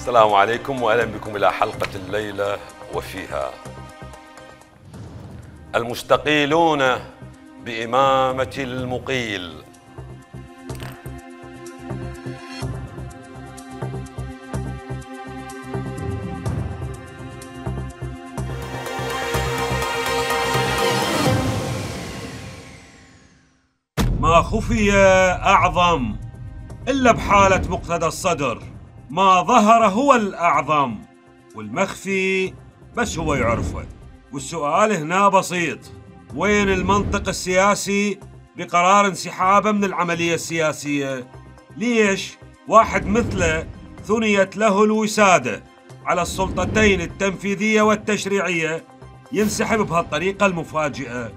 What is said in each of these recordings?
السلام عليكم واهلا بكم الى حلقة الليلة وفيها المستقيلون بإمامة المقيل. ما خفي أعظم إلا بحالة مقتدى الصدر، ما ظهر هو الأعظم والمخفي بس هو يعرفه. والسؤال هنا بسيط، وين المنطق السياسي بقرار انسحابه من العملية السياسية؟ ليش واحد مثله ثنيت له الوسادة على السلطتين التنفيذية والتشريعية ينسحب بهالطريقة المفاجئة؟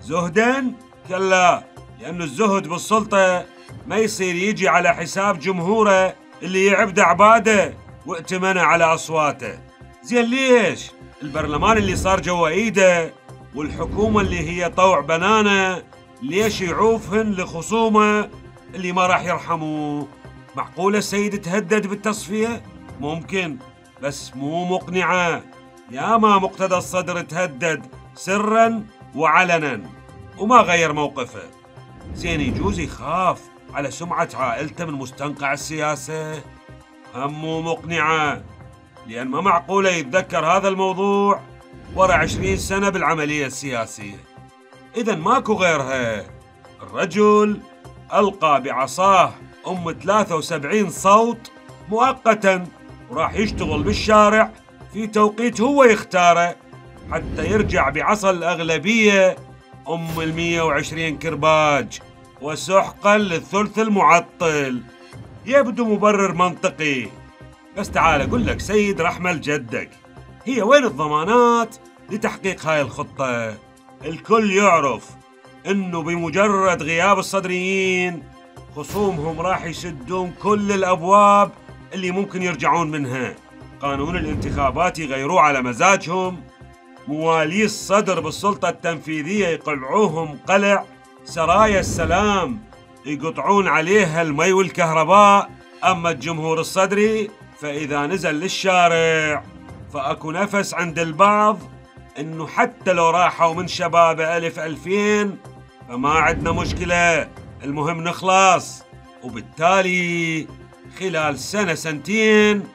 زهداً؟ كلا، لأن الزهد بالسلطة ما يصير يجي على حساب جمهوره اللي يعبد عباده وائتمنه على أصواته. زين ليش البرلمان اللي صار جوا ايده والحكومة اللي هي طوع بنانه ليش يعوفهن لخصومه اللي ما راح يرحموه؟ معقولة السيد تهدد بالتصفية؟ ممكن، بس مو مقنعة. يا ما مقتدى الصدر تهدد سراً وعلناً وما غير موقفه. زين يجوز يخاف على سمعة عائلته من مستنقع السياسة؟ هم مو مقنعة، لأن ما معقولة يتذكر هذا الموضوع ورا 20 سنة بالعملية السياسية. إذن ماكو غيرها. الرجل ألقى بعصاه 73 صوت مؤقتا وراح يشتغل بالشارع في توقيت هو يختاره حتى يرجع بعصا الأغلبية 120 كرباج وسحقا للثلث المعطل. يبدو مبرر منطقي، بس تعال أقول لك سيد رحمة جدك، هي وين الضمانات لتحقيق هاي الخطة؟ الكل يعرف إنه بمجرد غياب الصدريين خصومهم راح يسدون كل الأبواب اللي ممكن يرجعون منها. قانون الانتخابات يغيروه على مزاجهم، موالي الصدر بالسلطة التنفيذية يقلعوهم قلع، سرايا السلام يقطعون عليها المي والكهرباء. أما الجمهور الصدري فإذا نزل للشارع فأكو نفس عند البعض إنه حتى لو راحوا من شبابه 1000-2000 فما عندنا مشكلة، المهم نخلص. وبالتالي خلال سنة سنتين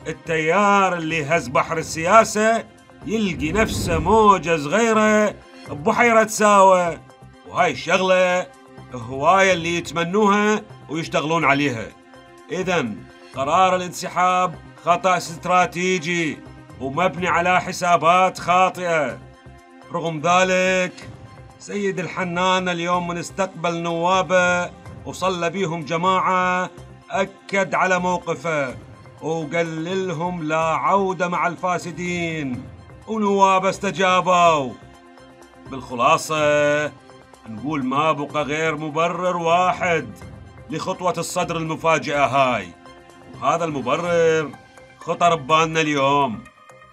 التيار اللي هز بحر السياسة يلقي نفسه موجة صغيرة ببحيرة ساوة. وهاي الشغلة هواية اللي يتمنوها ويشتغلون عليها. إذن قرار الانسحاب خطأ استراتيجي ومبني على حسابات خاطئة. رغم ذلك سيد الحنان اليوم من استقبل نوابه وصلى بيهم جماعة أكد على موقفه وقال لهم لا عودة مع الفاسدين، ونوابه استجابوا. بالخلاصة نقول ما بقى غير مبرر واحد لخطوة الصدر المفاجئة هاي، وهذا المبرر خطر ببالنا اليوم.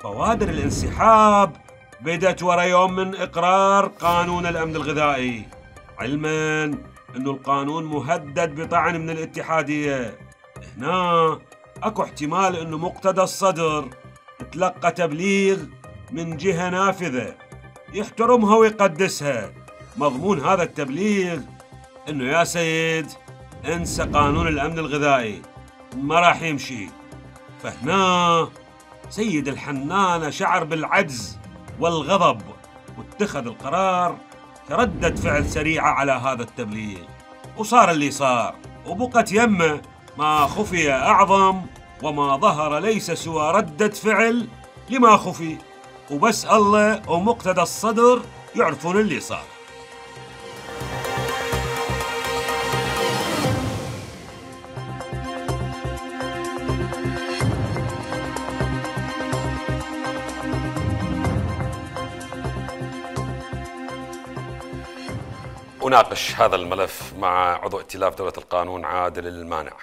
بوادر الانسحاب بدت ورا يوم من إقرار قانون الأمن الغذائي، علماً أنه القانون مهدد بطعن من الاتحادية. هنا أكو احتمال أنه مقتدى الصدر تلقى تبليغ من جهة نافذة يحترمها ويقدسها. مضمون هذا التبليغ أنه يا سيد انسى قانون الأمن الغذائي ما راح يمشي. فهنا سيد الحنان شعر بالعجز والغضب واتخذ القرار كردة فعل سريعة على هذا التبليغ، وصار اللي صار. وبقت يمه ما خفي أعظم وما ظهر ليس سوى ردة فعل لما خفي، وبس الله ومقتدى الصدر يعرفون اللي صار. أناقش هذا الملف مع عضو ائتلاف دولة القانون عادل المانع،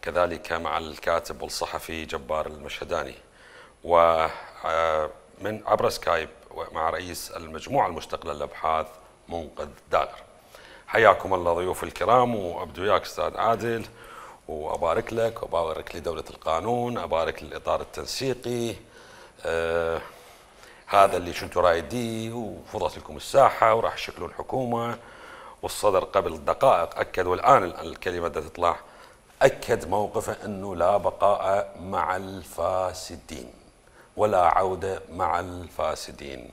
كذلك مع الكاتب والصحفي جبار المشهداني، ومن عبر سكايب مع رئيس المجموعة المستقلة للأبحاث منقذ داغر. حياكم الله ضيوف الكرام، وأبدو وياك أستاذ عادل. وأبارك لك وأبارك لدولة القانون، أبارك للإطار التنسيقي. هذا اللي كنتوا رايديه وفضت لكم الساحة وراح تشكلون حكومة. والصدر قبل دقائق أكد، والآن الكلمة بدها تطلع، أكد موقفه أنه لا بقاء مع الفاسدين ولا عودة مع الفاسدين.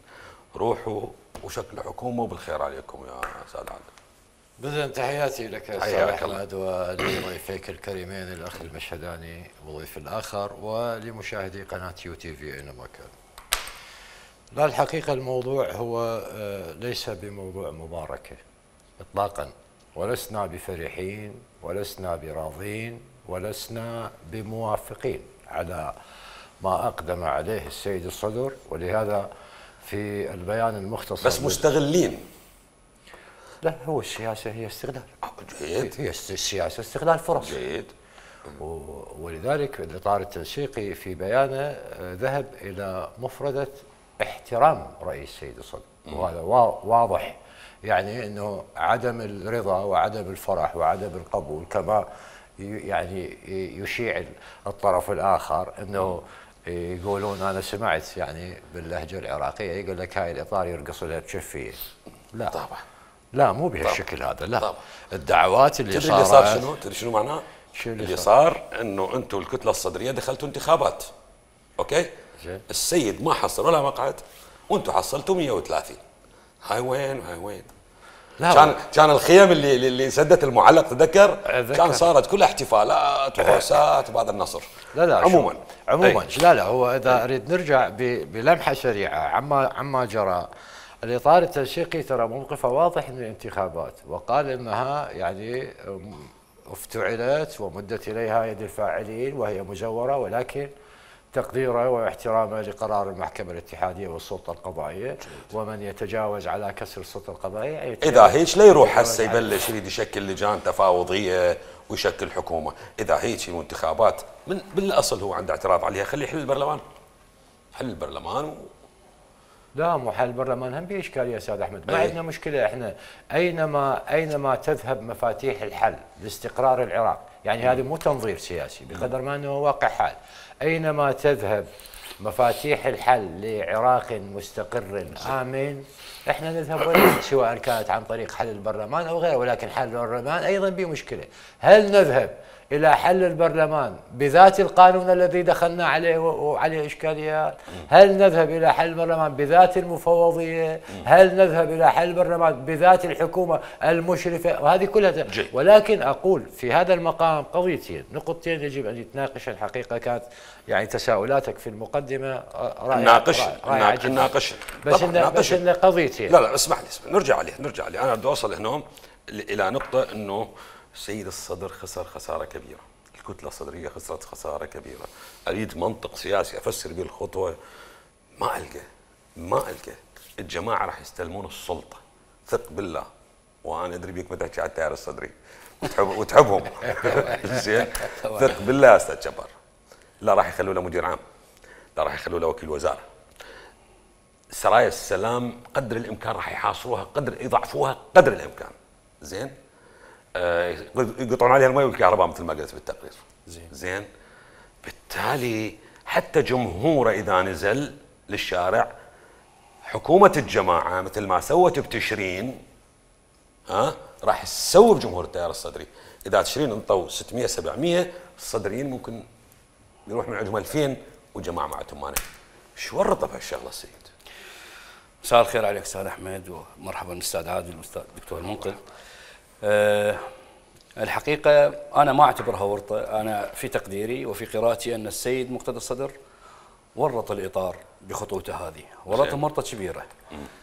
روحوا وشكلوا حكومة وبالخير عليكم يا أستاذ عادل. بذل تحياتي لك أستاذ أحمد ولضيفيك الكريمين الأخ المشهداني والضيف الآخر ولمشاهدي قناة UTV أينما كان. لا الحقيقة الموضوع هو ليس بموضوع مباركة إطلاقا، ولسنا بفرحين ولسنا براضين ولسنا بموافقين على ما أقدم عليه السيد الصدر، ولهذا في البيان المختصر بس مستغلين. لا، هو السياسة هي استغلال. جيد. هي السياسة استغلال فرص. جيد. ولذلك الإطار التنسيقي في بيانه ذهب إلى مفردة احترام رأي السيد الصدر، وهذا واضح يعني أنه عدم الرضا وعدم الفرح وعدم القبول كما يعني يشيع الطرف الآخر أنه يقولون أنا سمعت يعني باللهجة العراقية يقول لك هاي الإطار يرقص لها بشفية. لا طبعا. لا، مو بهالشكل هذا. لا طبعا. الدعوات اللي تدري اللي صار شنو؟ تدري شنو معناه؟ اللي صار انه انتم الكتله الصدريه دخلتوا انتخابات. اوكي؟ زين. السيد ما حصل ولا مقعد وانتم حصلتوا 130. هاي وين وهاي وين؟ كان الخيم اللي انسدت المعلق تذكر؟ كان صارت كلها احتفالات وعرسات وبعد النصر. لا عموما لا هو اذا اريد نرجع بلمحه سريعه عما جرى. الاطار التنسيقي ترى موقفه واضح من الانتخابات، وقال انها يعني افتعلت ومدت اليها يد الفاعلين وهي مزوره، ولكن تقديره واحترامه لقرار المحكمة الاتحادية والسلطة القضائية، ومن يتجاوز على كسر السلطة القضائية إذا هيك لا يروح هسه يبلش يريد يشكل لجان تفاوضية ويشكل حكومة. إذا هيك الانتخابات من بالأصل هو عنده اعتراض عليها، خليه يحل البرلمان. حل البرلمان لا، مو حل البرلمان هم بإشكالية استاذ احمد. ما عندنا مشكلة احنا اينما تذهب مفاتيح الحل لاستقرار العراق، يعني هذه مو تنظير سياسي بقدر ما انه واقع حال. اينما تذهب مفاتيح الحل لعراق مستقر آمن احنا نذهب وليه، سواء كانت عن طريق حل البرلمان او غيره. ولكن حل البرلمان ايضا بمشكلة. هل نذهب إلى حل البرلمان بذات القانون الذي دخلنا عليه وعليه إشكاليات؟ هل نذهب إلى حل البرلمان بذات المفوضية؟ هل نذهب إلى حل البرلمان بذات الحكومة المشرفة؟ وهذه كلها ولكن أقول في هذا المقام قضيتين، نقطتين يجب أن يتناقش. الحقيقة كانت يعني تساؤلاتك في المقدمة ناقش بس إن قضيتين. لا اسمح لي نرجع عليه. أنا بدي أوصل هنا إلى نقطة إنه السيد الصدر خسر خسارة كبيرة، الكتلة الصدرية خسرت خسارة كبيرة. أريد منطق سياسي أفسر به الخطوة، ما ألقى. الجماعة راح يستلمون السلطة، ثق بالله. وأنا أدري بيك متى تحكي على التيار الصدري وتحبهم. زين، ثق بالله يا أستاذ جبار. لا راح يخلوا له مدير عام، لا راح يخلوا له وكيل وزارة. سرايا السلام قدر الإمكان راح يحاصروها، يضعفوها قدر الإمكان. زين، يقطعون عليها الماء والكهرباء مثل ما قلت بالتقرير. زين. بالتالي حتى جمهوره اذا نزل للشارع، حكومه الجماعه مثل ما سوت بتشرين راح تسوي بجمهور التيار الصدري. اذا تشرين انطوا 600 700، الصدريين ممكن يروح من عندهم 2000 وجماعه معتهم. انا شو ورطه بهالشغله السيد؟ مساء الخير عليك استاذ احمد، ومرحبا استاذ عادل والاستاذ الدكتور المنقذ. الحقيقة أنا ما أعتبرها ورطة. أنا في تقديري وفي قراءتي أن السيد مقتدى الصدر ورط الإطار بخطوته هذه، ورطهم ورطة كبيرة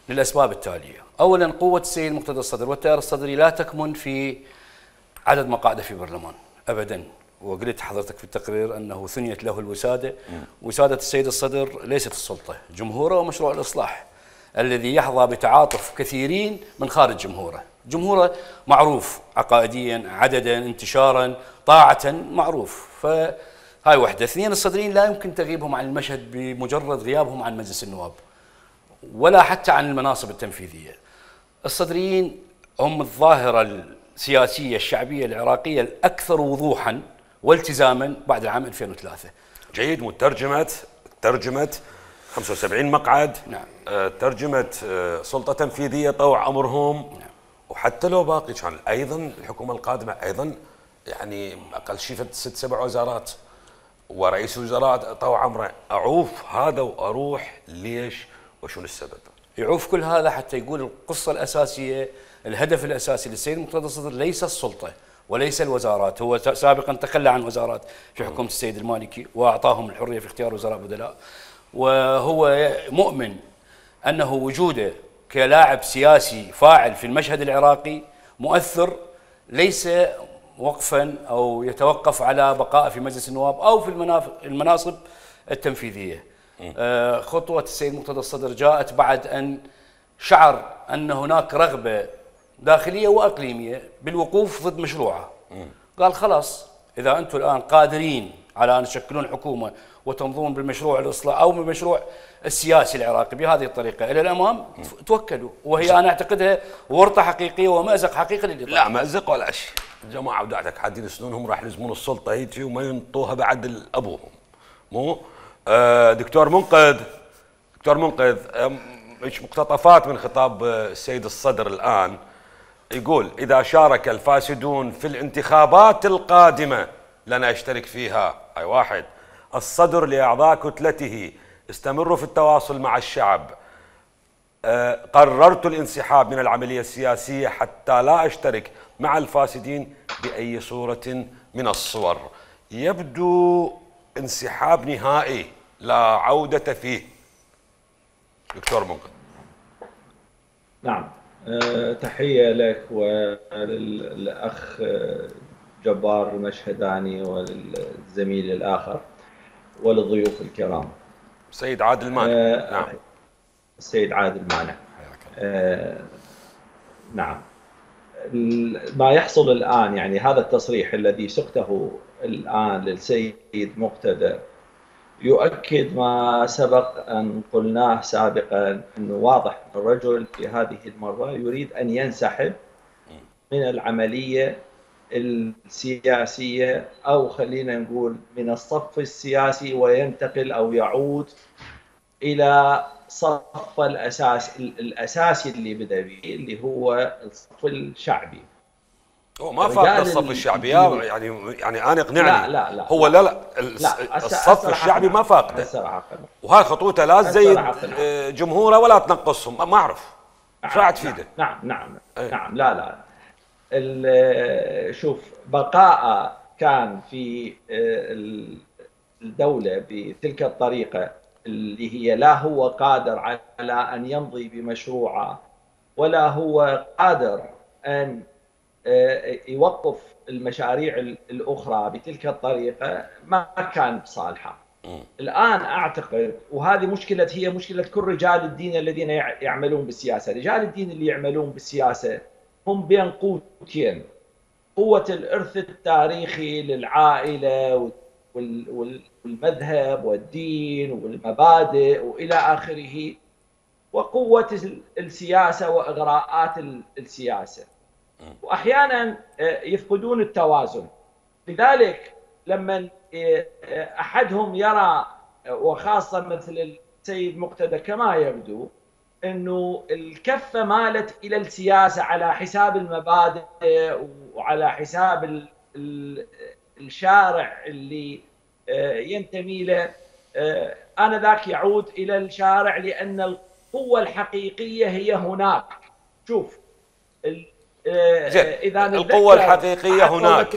للأسباب التالية. أولا، قوة السيد مقتدى الصدر والتيار الصدري لا تكمن في عدد مقاعده في برلمان أبدا. وقلت حضرتك في التقرير أنه ثنيت له الوسادة. وسادة السيد الصدر ليست السلطة، جمهوره ومشروع الإصلاح الذي يحظى بتعاطف كثيرين من خارج جمهوره. جمهوره معروف عقائديا، عددا، انتشارا، طاعة، معروف. فهاي واحدة. اثنين، الصدريين لا يمكن تغيبهم عن المشهد بمجرد غيابهم عن مجلس النواب ولا حتى عن المناصب التنفيذية. الصدريين هم الظاهرة السياسية الشعبية العراقية الأكثر وضوحا والتزاما بعد العام 2003. جيد. ترجمة 75 مقعد. نعم. ترجمة سلطة تنفيذية طوع أمرهم. نعم. وحتى لو باقي كان أيضا الحكومة القادمة أيضا يعني أقل شيء 6-7 وزارات ورئيس وزراء طوع أمره. أعوف هذا وأروح ليش وشنو السبب؟ يعوف كل هذا حتى يقول القصة الأساسية، الهدف الأساسي للسيد مقتدى الصدر ليس السلطة وليس الوزارات. هو سابقا تخلى عن وزارات في حكومة السيد المالكي وأعطاهم الحرية في اختيار وزراء بدلاء، وهو مؤمن أنه وجوده كلاعب سياسي فاعل في المشهد العراقي مؤثر، ليس وقفا أو يتوقف على بقاء في مجلس النواب أو في المناصب التنفيذية. خطوة السيد مقتدى الصدر جاءت بعد أن شعر أن هناك رغبة داخلية وأقليمية بالوقوف ضد مشروعه. قال خلاص، إذا أنتم الآن قادرين على أن تشكلون حكومة وتمضون بالمشروع الإصلاح أو بالمشروع السياسي العراقي بهذه الطريقة إلى الأمام، توكلوا. وهي أنا أعتقدها ورطة حقيقية ومأزق حقيقي للإطار. لا مأزق ولا شيء. الجماعة ودعتك حادين سنونهم راح يلزمون السلطة هيجي وما ينطوها بعد أبوهم. مو دكتور منقذ مقتطفات من خطاب السيد الصدر الآن يقول: إذا شارك الفاسدون في الانتخابات القادمة لن أشترك فيها. أي واحد. الصدر لأعضاء كتلته: استمروا في التواصل مع الشعب. قررت الانسحاب من العملية السياسية حتى لا أشترك مع الفاسدين بأي صورة من الصور. يبدو انسحاب نهائي لا عودة فيه. دكتور منقذ. نعم. تحية لك وللأخ جبار المشهداني وللزميل الآخر وللضيوف الكرام. سيد عادل مانع. نعم. السيد عادل مانع. نعم. ما يحصل الآن، يعني هذا التصريح الذي سقته الآن للسيد مقتدى يؤكد ما سبق أن قلناه سابقا، أنه واضح أن الرجل في هذه المرة يريد أن ينسحب من العملية السياسية، أو خلينا نقول من الصف السياسي، وينتقل أو يعود إلى صف الأساسي اللي بدأ به، اللي هو الصف الشعبي. هو ما فاقد الصف الشعبي يعني انا اقنعني. لا هو لا الصف الشعبي ما فاقده، وهاي خطوته لا تزيد جمهوره ولا تنقصهم. ما اعرف شو راح تفيده. نعم لا شوف، بقاء كان في الدولة بتلك الطريقة اللي هي لا هو قادر على أن يمضي بمشروعه ولا هو قادر أن يوقف المشاريع الأخرى بتلك الطريقة، ما كان بصالحه. الآن أعتقد، وهذه هي مشكلة كل رجال الدين الذين يعملون بالسياسة. رجال الدين اللي يعملون بالسياسة هم بين قوتين: قوة الإرث التاريخي للعائلة والمذهب والدين والمبادئ وإلى آخره، وقوة السياسة وإغراءات السياسة، وأحيانا يفقدون التوازن. لذلك لما أحدهم يرى، وخاصة مثل السيد مقتدى كما يبدو، أنه الكفة مالت إلى السياسة على حساب المبادئ وعلى حساب الشارع اللي ينتمي له، آنذاك يعود إلى الشارع، لأن القوة الحقيقية هي هناك. شوف، إذا القوة الحقيقية هناك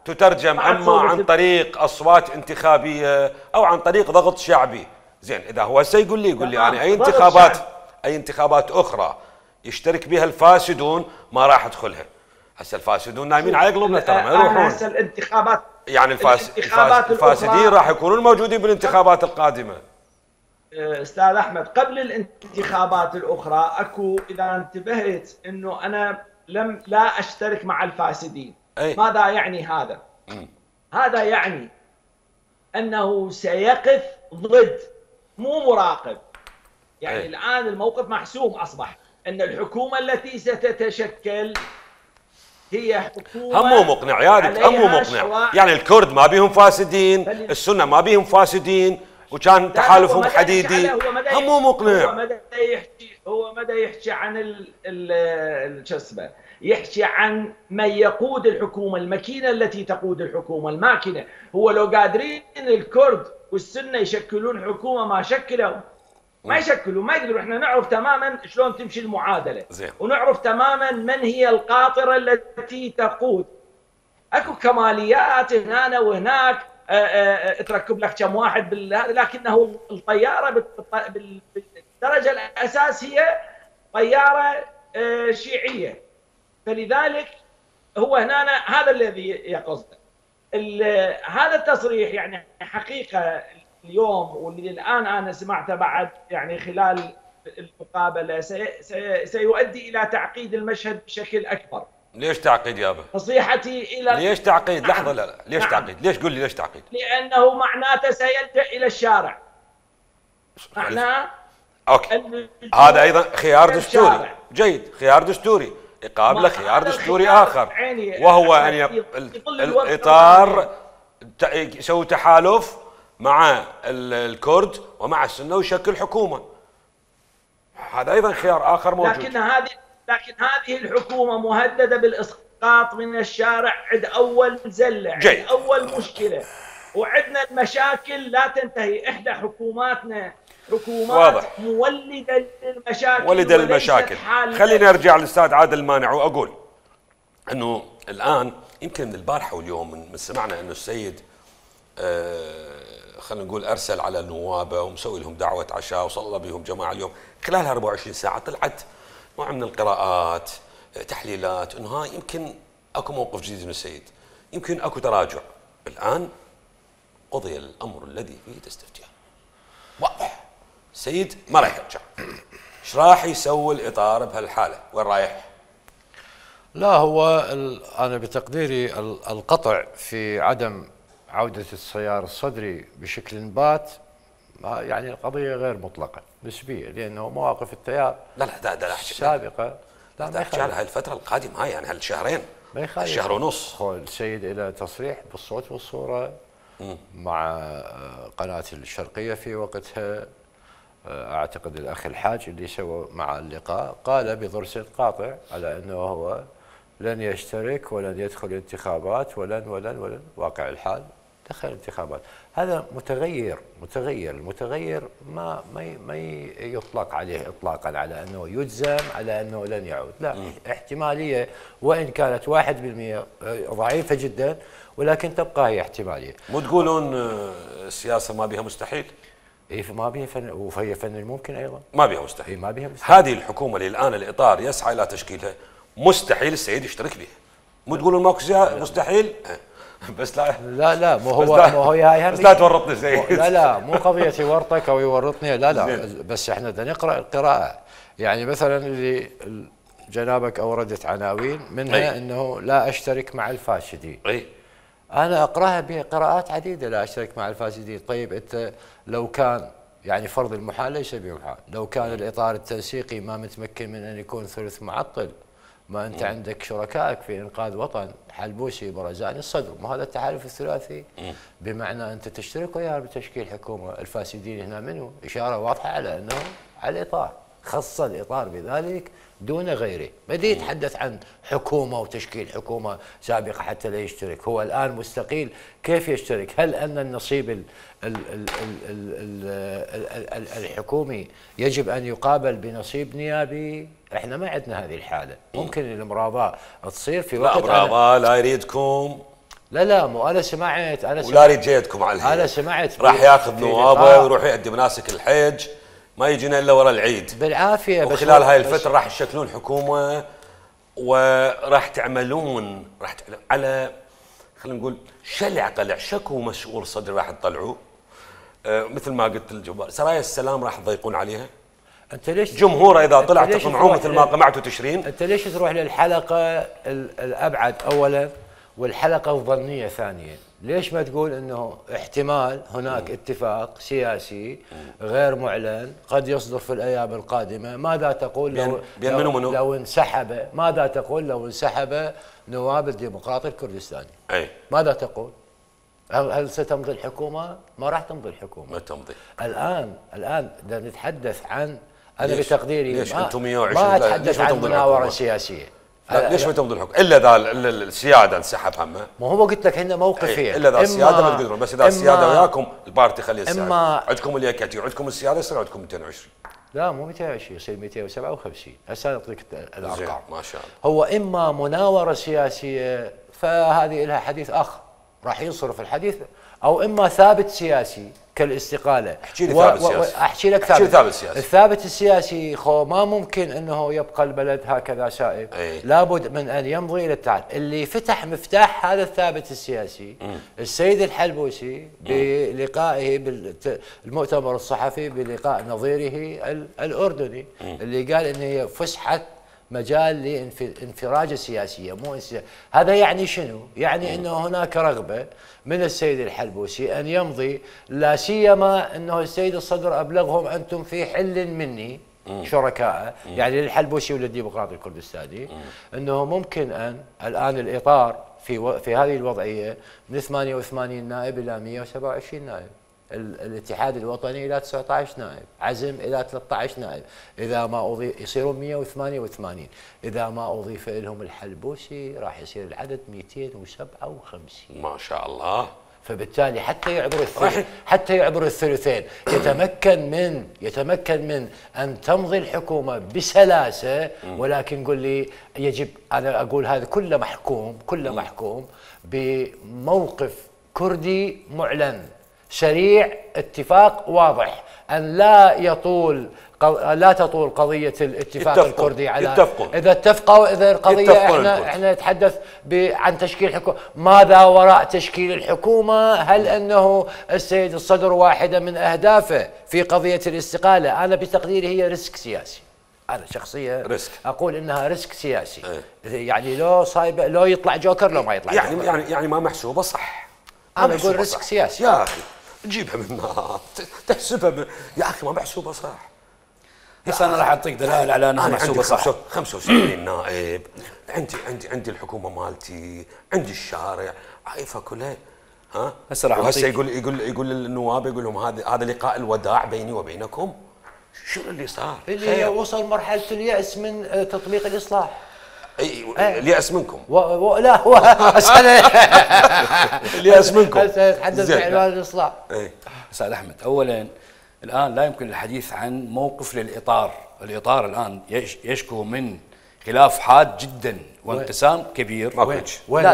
تترجم اما عن طريق اصوات انتخابيه او عن طريق ضغط شعبي. زين، اذا هو هسه يقول لي يعني اي انتخابات اخرى يشترك بها الفاسدون ما راح ادخلها. هسه الفاسدون نايمين على قلوبنا ترى، ما يروحون. هسه الانتخابات يعني الفاسدين راح يكونون موجودين بالانتخابات القادمه. استاذ احمد، قبل الانتخابات الاخرى اكو، اذا انتبهت، انه انا لا اشترك مع الفاسدين. ماذا يعني هذا؟ هذا يعني أنه سيقف ضد، مو مراقب. يعني الآن الموقف محسوم، أصبح أن الحكومة التي ستتشكل هي حكومة هم مو مقنع يا دكتور، هم مو مقنع. يعني الكرد ما بيهم فاسدين، السنة ما بيهم فاسدين، وكان تحالفهم حديدي. هم مو مقنع. هو مدى يحكي عن شو اسمه، يحكي عن من يقود الحكومة، الماكينة التي تقود الحكومة، الماكينة. هو لو قادرين الكرد والسنة يشكلون حكومة ما شكلوا، ما يشكلوا، ما يقدروا. احنا نعرف تماما شلون تمشي المعادلة، ونعرف تماما من هي القاطرة التي تقود. اكو كماليات هنا وهناك، تركب لك كم واحد لكنه الطيارة بالدرجة الأساس هي طيارة شيعية. فلذلك هو هنا هذا الذي يقصده. هذا التصريح يعني حقيقة اليوم واللي الآن أنا سمعته بعد يعني خلال المقابلة سيؤدي إلى تعقيد المشهد بشكل أكبر. ليش تعقيد يابا؟ نصيحتي إلى ليش تعقيد؟ لحظة، لا ليش تعقيد؟ ليش قول لي ليش تعقيد؟ لأنه معناته سيلجأ إلى الشارع. معناه اوكي، هذا ايضا خيار دستوري جيد، خيار دستوري يقابله خيار دستوري اخر، وهو ان الاطار يسوي تحالف مع الكرد ومع السنه ويشكل حكومه. هذا ايضا خيار اخر موجود. لكن هذه الحكومه مهدده بالاسقاط من الشارع عند اول زله، عند اول مشكله، وعندنا المشاكل لا تنتهي. احدى حكوماتنا حكومات واضح. مولده للمشاكل، ولد المشاكل. خليني ارجع للاستاذ عادل المانع واقول انه الان يمكن من البارحه واليوم من سمعنا انه السيد خلينا نقول ارسل على نوابه ومسوي لهم دعوه عشاء وصلى بهم جماعه اليوم. خلال 24 ساعه طلعت نوع من القراءات، تحليلات، انه ها يمكن اكو موقف جديد من السيد، يمكن اكو تراجع. الان قضي الامر الذي فيه تستفتيان واضح. السيد ما راح يرجع. ايش راح يسوي الاطار بهالحاله؟ وين رايح؟ لا هو انا بتقديري القطع في عدم عوده السيار الصدري بشكل بات، يعني القضيه غير مطلقه نسبيه، لانه مواقف التيار لا السابقه لا ما يخالف. هاي الفتره القادمه هاي يعني هالشهرين، ما يخالف، شهر ونص. هو السيد الى تصريح بالصوت والصوره مع قناه الشرقيه في وقتها، اعتقد الاخ الحاج اللي سوى مع اللقاء قال بضرس قاطع على انه هو لن يشترك ولن يدخل انتخابات ولن واقع الحال دخل انتخابات. هذا متغير، المتغير ما يطلق عليه اطلاقا على انه يجزم على انه لن يعود، لا احتماليه وان كانت 1% ضعيفه جدا، ولكن تبقى هي احتماليه. مو تقولون السياسه ما بها مستحيل؟ ما بها فن، وهي فن الممكن ايضا. ما بها مستحيل. ما بها مستحيل. هذه الحكومه اللي الان الاطار يسعى الى تشكيلها مستحيل السيد يشترك بها. مو تقولون ماكو مستحيل؟ بس لا مو هو هاي بس لا تورطني زي لا مو قضيه يورطك او يورطني، لا بس احنا بدنا نقرا القراءه. يعني مثلا اللي جنابك اوردت عناوين منها انه لا اشترك مع الفاسدين. انا اقراها بقراءات عديده، لا اشترك مع الفاسدين. طيب انت لو كان يعني فرض المحال ليس بمحال، لو كان الاطار التنسيقي ما متمكن من ان يكون ثلث معطل، ما انت عندك شركائك في انقاذ وطن حلبوسي برزاني الصدر، ما هذا التحالف الثلاثي، بمعنى انت تشترك وياه بتشكيل حكومه. الفاسدين هنا منه اشاره واضحه على انه على الاطار، خص الاطار بذلك دون غيره. بدي يتحدث عن حكومه وتشكيل حكومه سابقه حتى لا يشترك، هو الان مستقيل، كيف يشترك؟ هل ان النصيب الحكومي يجب ان يقابل بنصيب نيابي؟ احنا ما عندنا هذه الحاله. ممكن المراضاه تصير في وقت المراضاه لا يريدكم. لا مو انا سمعت ولا يريد جيدكم على الهيئة. انا سمعت راح ياخذ نوابه ويروح يؤدي مناسك الحج، ما يجينا الا ورا العيد بالعافيه. بس خلال هاي الفتره راح تشكلون حكومه وراح تعملون على خلينا نقول شلع قلع شكو مسؤول صدر راح تطلعوه. مثل ما قلت الجبار، سرايا السلام راح تضيقون عليها. انت ليش جمهوره اذا طلع تقمعوه مثل ما قمعتوا تشرين؟ انت ليش تروح للحلقه الابعد اولا والحلقه الظنيه ثانيا؟ ليش ما تقول انه احتمال هناك اتفاق سياسي غير معلن قد يصدر في الايام القادمه؟ ماذا تقول بين منو منو؟ لو انسحب؟ ماذا تقول لو انسحب نواب الديمقراطي الكردستاني؟ اي ماذا تقول؟ هل ستمضي الحكومه؟ ما راح تمضي الحكومه. ما تمضي. الان بدنا نتحدث عن، انا ليش؟ بتقديري ليش ما, انتم 120 ما اتحدث عن مناوره سياسيه. ليش ما تمضي الحكم؟ الا اذا السياده انسحب همه. ما هو قلت لك هن موقفين. الا اذا السياده ما تقدرون، بس اذا السياده وياكم البارتي خليه السياده. عندكم اليكتي وعندكم السياده يصير عندكم 220. لا مو 220 يصير 257. هسه اعطيك الارقام. ما شاء الله. هو اما مناوره سياسيه فهذه لها حديث اخر راح ينصرف الحديث، او اما ثابت سياسي كالاستقاله. احكي لي ثابت سياسي. احكي لك ثابت سياسي. الثابت السياسي ما ممكن انه يبقى البلد هكذا سائب، لابد من ان يمضي الى التعاطي. اللي فتح مفتاح هذا الثابت السياسي السيد الحلبوسي بلقائه بالمؤتمر الصحفي بلقاء نظيره الاردني، اللي قال انه هي فسحه مجال لانفراجه سياسيه مو هذا يعني شنو؟ يعني انه هناك رغبه من السيد الحلبوسي ان يمضي، لا سيما انه السيد الصدر ابلغهم انتم في حل مني شركاء، يعني للحلبوسي وللديمقراطي الكردستاني، انه ممكن ان الان الاطار في هذه الوضعيه من 88 نائب الى 127 نائب. الاتحاد الوطني الى 19 نائب، عزم الى 13 نائب، اذا ما اضيف يصيرون 188، اذا ما اضيف لهم الحلبوسي راح يصير العدد 257. ما شاء الله. فبالتالي حتى يعبر الثلثين يتمكن من ان تمضي الحكومه بسلاسه. ولكن قل لي يجب، انا اقول هذا كله محكوم بموقف كردي معلن سريع، اتفاق واضح ان لا تطول قضيه الاتفاق الكردي على يتفقون. اذا اتفقوا، اذا القضيه احنا نتحدث عن تشكيل حكومه. ماذا وراء تشكيل الحكومه؟ هل انه السيد الصدر واحده من اهدافه في قضيه الاستقاله؟ انا بتقديري هي ريسك سياسي. انا شخصيا اقول انها ريسك سياسي. يعني لو يطلع جوكر لو ما يطلع جوكر. يعني ما محسوبه صح. انا اقول ريسك سياسي يا اخي. تجيبها من تحسبها يا اخي ما محسوبه صح. بس انا راح اعطيك دلائل على انها محسوبه صح. 75 نائب، عندي الحكومه مالتي، عندي الشارع، عايفه كلها. ها هسه راح وهسه يقول للنواب، يقول لهم هذا لقاء الوداع بيني وبينكم. شنو اللي صار؟ اللي وصل مرحله اليأس من تطبيق الاصلاح. اليأس منكم. لا هو اليأس منكم. نتحدث بعنوان الاصلاح. استاذ احمد، اولا الان لا يمكن الحديث عن موقف للاطار، الاطار الان يشكو من خلاف حاد جدا وانقسام كبير. وين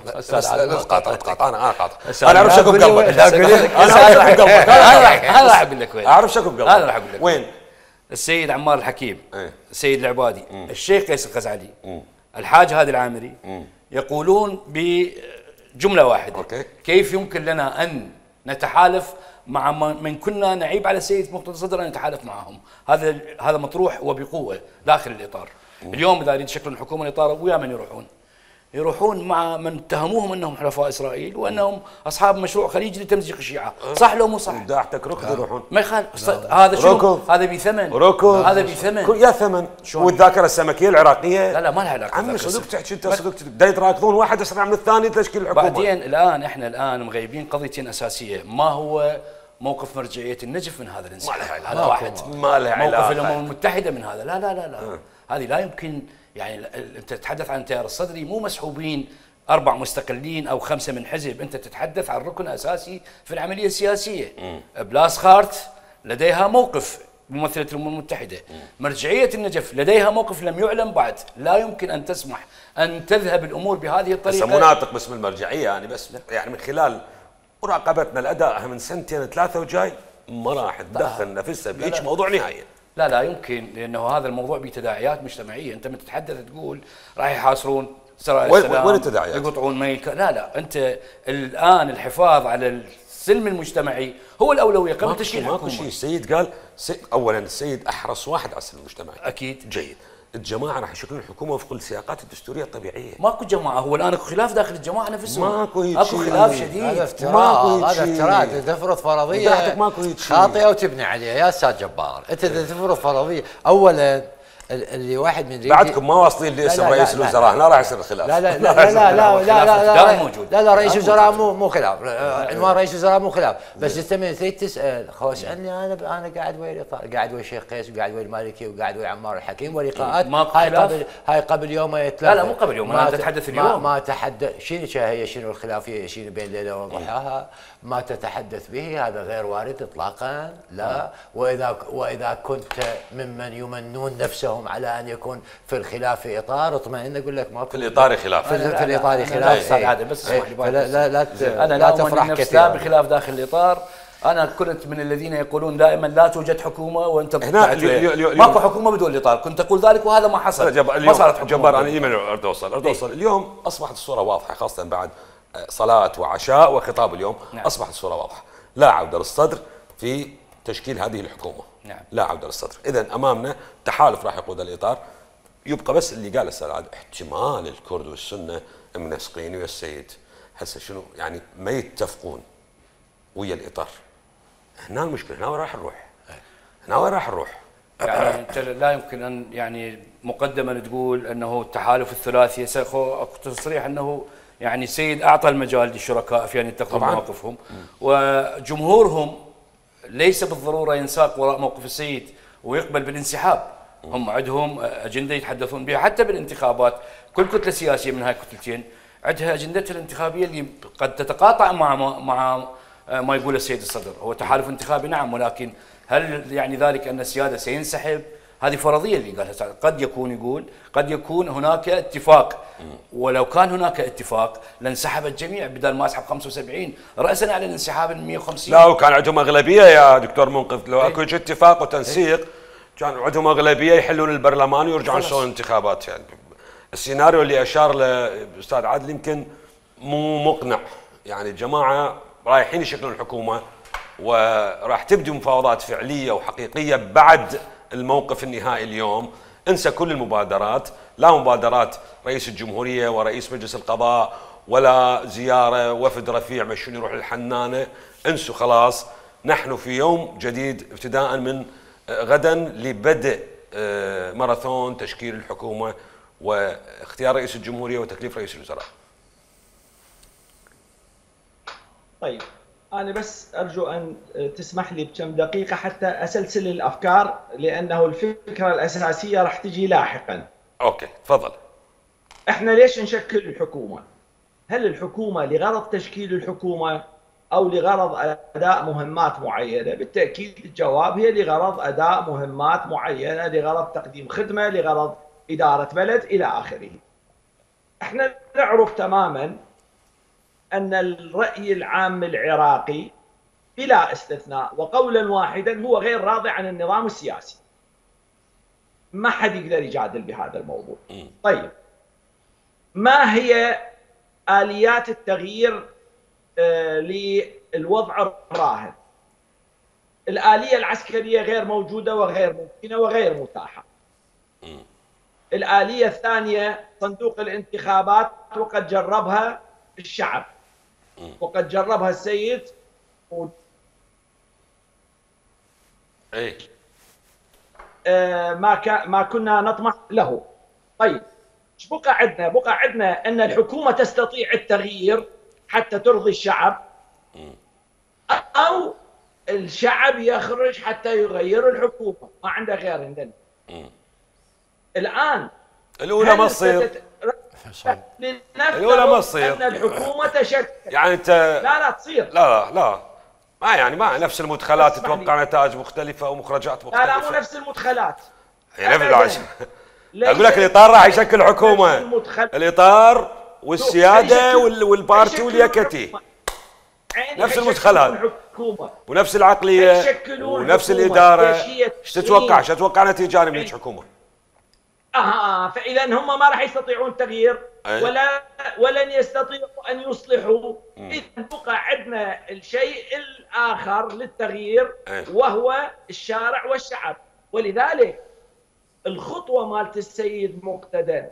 استاذ قاطع انا اعرف شكو بقلبك. انا راح اقول لك وين. اعرف شكو بقلبك. انا راح اقول لك وين. السيد عمار الحكيم، السيد العبادي، الشيخ قيس الغزالي، الحاج هادي العامري، يقولون بجمله واحده: كيف يمكن لنا ان نتحالف مع من كنا نعيب على السيد مقتدى الصدر ان نتحالف معهم؟ هذا مطروح وبقوه داخل الاطار. اليوم اذا يريد شكل الحكومه الاطار، ويا من يروحون مع من اتهموهم انهم حلفاء اسرائيل وانهم اصحاب مشروع خليجي لتمزيق الشيعه، صح لو مو صح؟ داعتك ركض يروحون. ما يخالف. هذا شنو؟ هذا بثمن. هذا بثمن. يا ثمن. والذاكره السمكيه العراقيه. لا ما لها علاقه. عمي صدق تحكي انت صدق دا يتراكضون واحد اسرع من الثاني تشكيل الحكومه. بعدين احنا الان مغيبين قضيتين اساسيه، ما هو موقف مرجعيه النجف من هذا الانسحاب؟ هذا واحد. ما له علاقه. موقف الامم المتحده من هذا؟ لا. هذه لا يمكن. يعني انت تتحدث عن التيار الصدري، مو مسحوبين 4 مستقلين او 5 من حزب، انت تتحدث عن ركن اساسي في العمليه السياسيه. بلاسخارت لديها موقف ممثله الامم المتحده، مرجعيه النجف لديها موقف لم يعلن بعد. لا يمكن ان تسمح ان تذهب الامور بهذه الطريقه. مو ناطق باسم المرجعيه يعني، بس يعني من خلال مراقبتنا لادائها من 2-3 وجاي ما راح تدخل نفسها بهيك موضوع نهائيا. لا يمكن، لانه هذا الموضوع بتداعيات مجتمعيه. انت من تتحدث تقول راح يحاصرون سرايا السلام، وين التداعيات؟ يقطعون ميل. لا انت الان الحفاظ على السلم المجتمعي هو الاولويه قبل تشكيل حكومه. ماكو شيء. السيد قال اولا السيد احرص واحد على السلم المجتمعي. اكيد جيد. الجماعه راح يشكلون الحكومه وفق السياقات الدستوريه الطبيعيه. ماكو جماعه، هو الان اكو خلاف داخل الجماعه نفسهم، ماكو هيك اكو شيء. خلاف هذا شديد. افتراء، هذا شيء. افتراء. تفرض فرضيه وضحتك ماكو هيك شيء. خاطئه وتبني عليها يا استاذ جبار. انت تفرض فرضيه اولا اللي واحد من بعدكم ما واصلين لاسم رئيس الوزراء، هنا راح يصير الخلاف. لا لا لا لا لا لا لا دائما موجود. لا رئيس الوزراء مو خلاف، عنوان رئيس الوزراء مو خلاف، بس انت من تريد تسال خو اسالني انا قاعد ويا الاطار، قاعد ويا الشيخ قيس وقاعد ويا المالكي وقاعد ويا عمار الحكيم ولقاءات هاي قبل يومين ثلاثه. لا مو قبل يوم، انا اتحدث اليوم. ما تحدث شنو الخلافيه شنو بين ليله وضحاها، ما تتحدث به هذا غير وارد اطلاقا. لا، واذا كنت ممن يمنون نفسهم على ان يكون في الخلاف في اطار، اطمئن اقول لك ما في الاطار خلاف. في الاطار خلاف. هذا بس اسمح لي، لا انا لا تفرح كثيرا بخلاف داخل الاطار. انا كنت من الذين يقولون دائما لا توجد حكومه وانت ماكو حكومه بدون الاطار، كنت اقول ذلك وهذا ما حصل. ما صارت حكومه. جبار، انا ايمن اريد اوصل اليوم اصبحت الصوره واضحه، خاصه بعد صلاه وعشاء وخطاب اليوم. نعم. اصبحت الصوره واضحه، لا عوده للصدر في تشكيل هذه الحكومه. نعم. لا عوده للصدر، اذا امامنا تحالف راح يقود الاطار. يبقى بس اللي قاله الاستاذ عادل، احتمال الكرد والسنه منسقين ويا السيد هسه شنو يعني ما يتفقون ويا الاطار. هنا المشكله، هنا وين راح نروح؟ يعني انت لا يمكن ان يعني مقدما تقول انه التحالف الثلاثي اكو تصريح انه يعني السيد اعطى المجال للشركاء في ان يتخذوا مواقفهم، وجمهورهم ليس بالضروره ينساق وراء موقف السيد ويقبل بالانسحاب. هم عندهم اجنده يتحدثون بها حتى بالانتخابات. كل كتله سياسيه من هاي الكتلتين عندها اجندتها الانتخابيه اللي قد تتقاطع مع ما يقول السيد الصدر. هو تحالف انتخابي نعم، ولكن هل يعني ذلك ان السياده سينسحب؟ هذه فرضيه اللي قالها. قد يكون هناك اتفاق، ولو كان هناك اتفاق لانسحب الجميع بدل ما اسحب 75 راسا على الانسحاب ال 150. لا، وكان عندهم اغلبيه يا دكتور منقذ. لو اكو اتفاق وتنسيق كان عندهم اغلبيه يحلون البرلمان ويرجعون يسوون انتخابات. يعني السيناريو اللي اشار له الاستاذ عادل يمكن مو مقنع. يعني الجماعه رايحين يشكلون الحكومه وراح تبدو مفاوضات فعليه وحقيقيه بعد الموقف النهائي اليوم. انسى كل المبادرات، لا مبادرات رئيس الجمهوريه ورئيس مجلس القضاء ولا زياره وفد رفيع مشون يروح للحنانه. انسوا خلاص، نحن في يوم جديد ابتداء من غدا لبدء ماراثون تشكيل الحكومه واختيار رئيس الجمهوريه وتكليف رئيس الوزراء. طيب أنا بس أرجو أن تسمح لي بكم دقيقة حتى أسلسل الأفكار، لأنه الفكرة الأساسية راح تجي لاحقا. أوكي تفضل. إحنا ليش نشكل الحكومة؟ هل الحكومة لغرض تشكيل الحكومة أو لغرض أداء مهمات معينة؟ بالتأكيد الجواب هي لغرض أداء مهمات معينة، لغرض تقديم خدمة، لغرض إدارة بلد إلى آخره. إحنا نعرف تماماً أن الرأي العام العراقي بلا استثناء وقولا واحدا هو غير راضي عن النظام السياسي. ما حد يقدر يجادل بهذا الموضوع. طيب، ما هي آليات التغيير للوضع الراهن؟ الآلية العسكرية غير موجودة وغير ممكنة وغير متاحة. الآلية الثانية صندوق الانتخابات، وقد جربها الشعب وقد جربها السيد ما كنا نطمح له. طيب ايش بقى عندنا؟ بقى عندنا ان الحكومه تستطيع التغيير حتى ترضي الشعب، او الشعب يخرج حتى يغير الحكومه. ما عنده غير عندنا. الان الاولى ما تصير، الأولى ما تصير أن الحكومة تشكل. يعني أنت لا تصير. لا ما يعني ما نفس المدخلات تتوقع نتائج مختلفة ومخرجات مختلفة. لا مو نفس المدخلات. يعني أقول لك الإطار راح يشكل حكومة، الإطار والسيادة والبارتي واليكتي نفس المدخلات ونفس العقلية ونفس الإدارة. ايش تتوقع نتيجة من الحكومة؟ فإذا هم ما راح يستطيعون التغيير ولن يستطيعوا أن يصلحوا. إذا بقى عندنا الشيء الآخر للتغيير وهو الشارع والشعب. ولذلك الخطوة مالت السيد مقتدى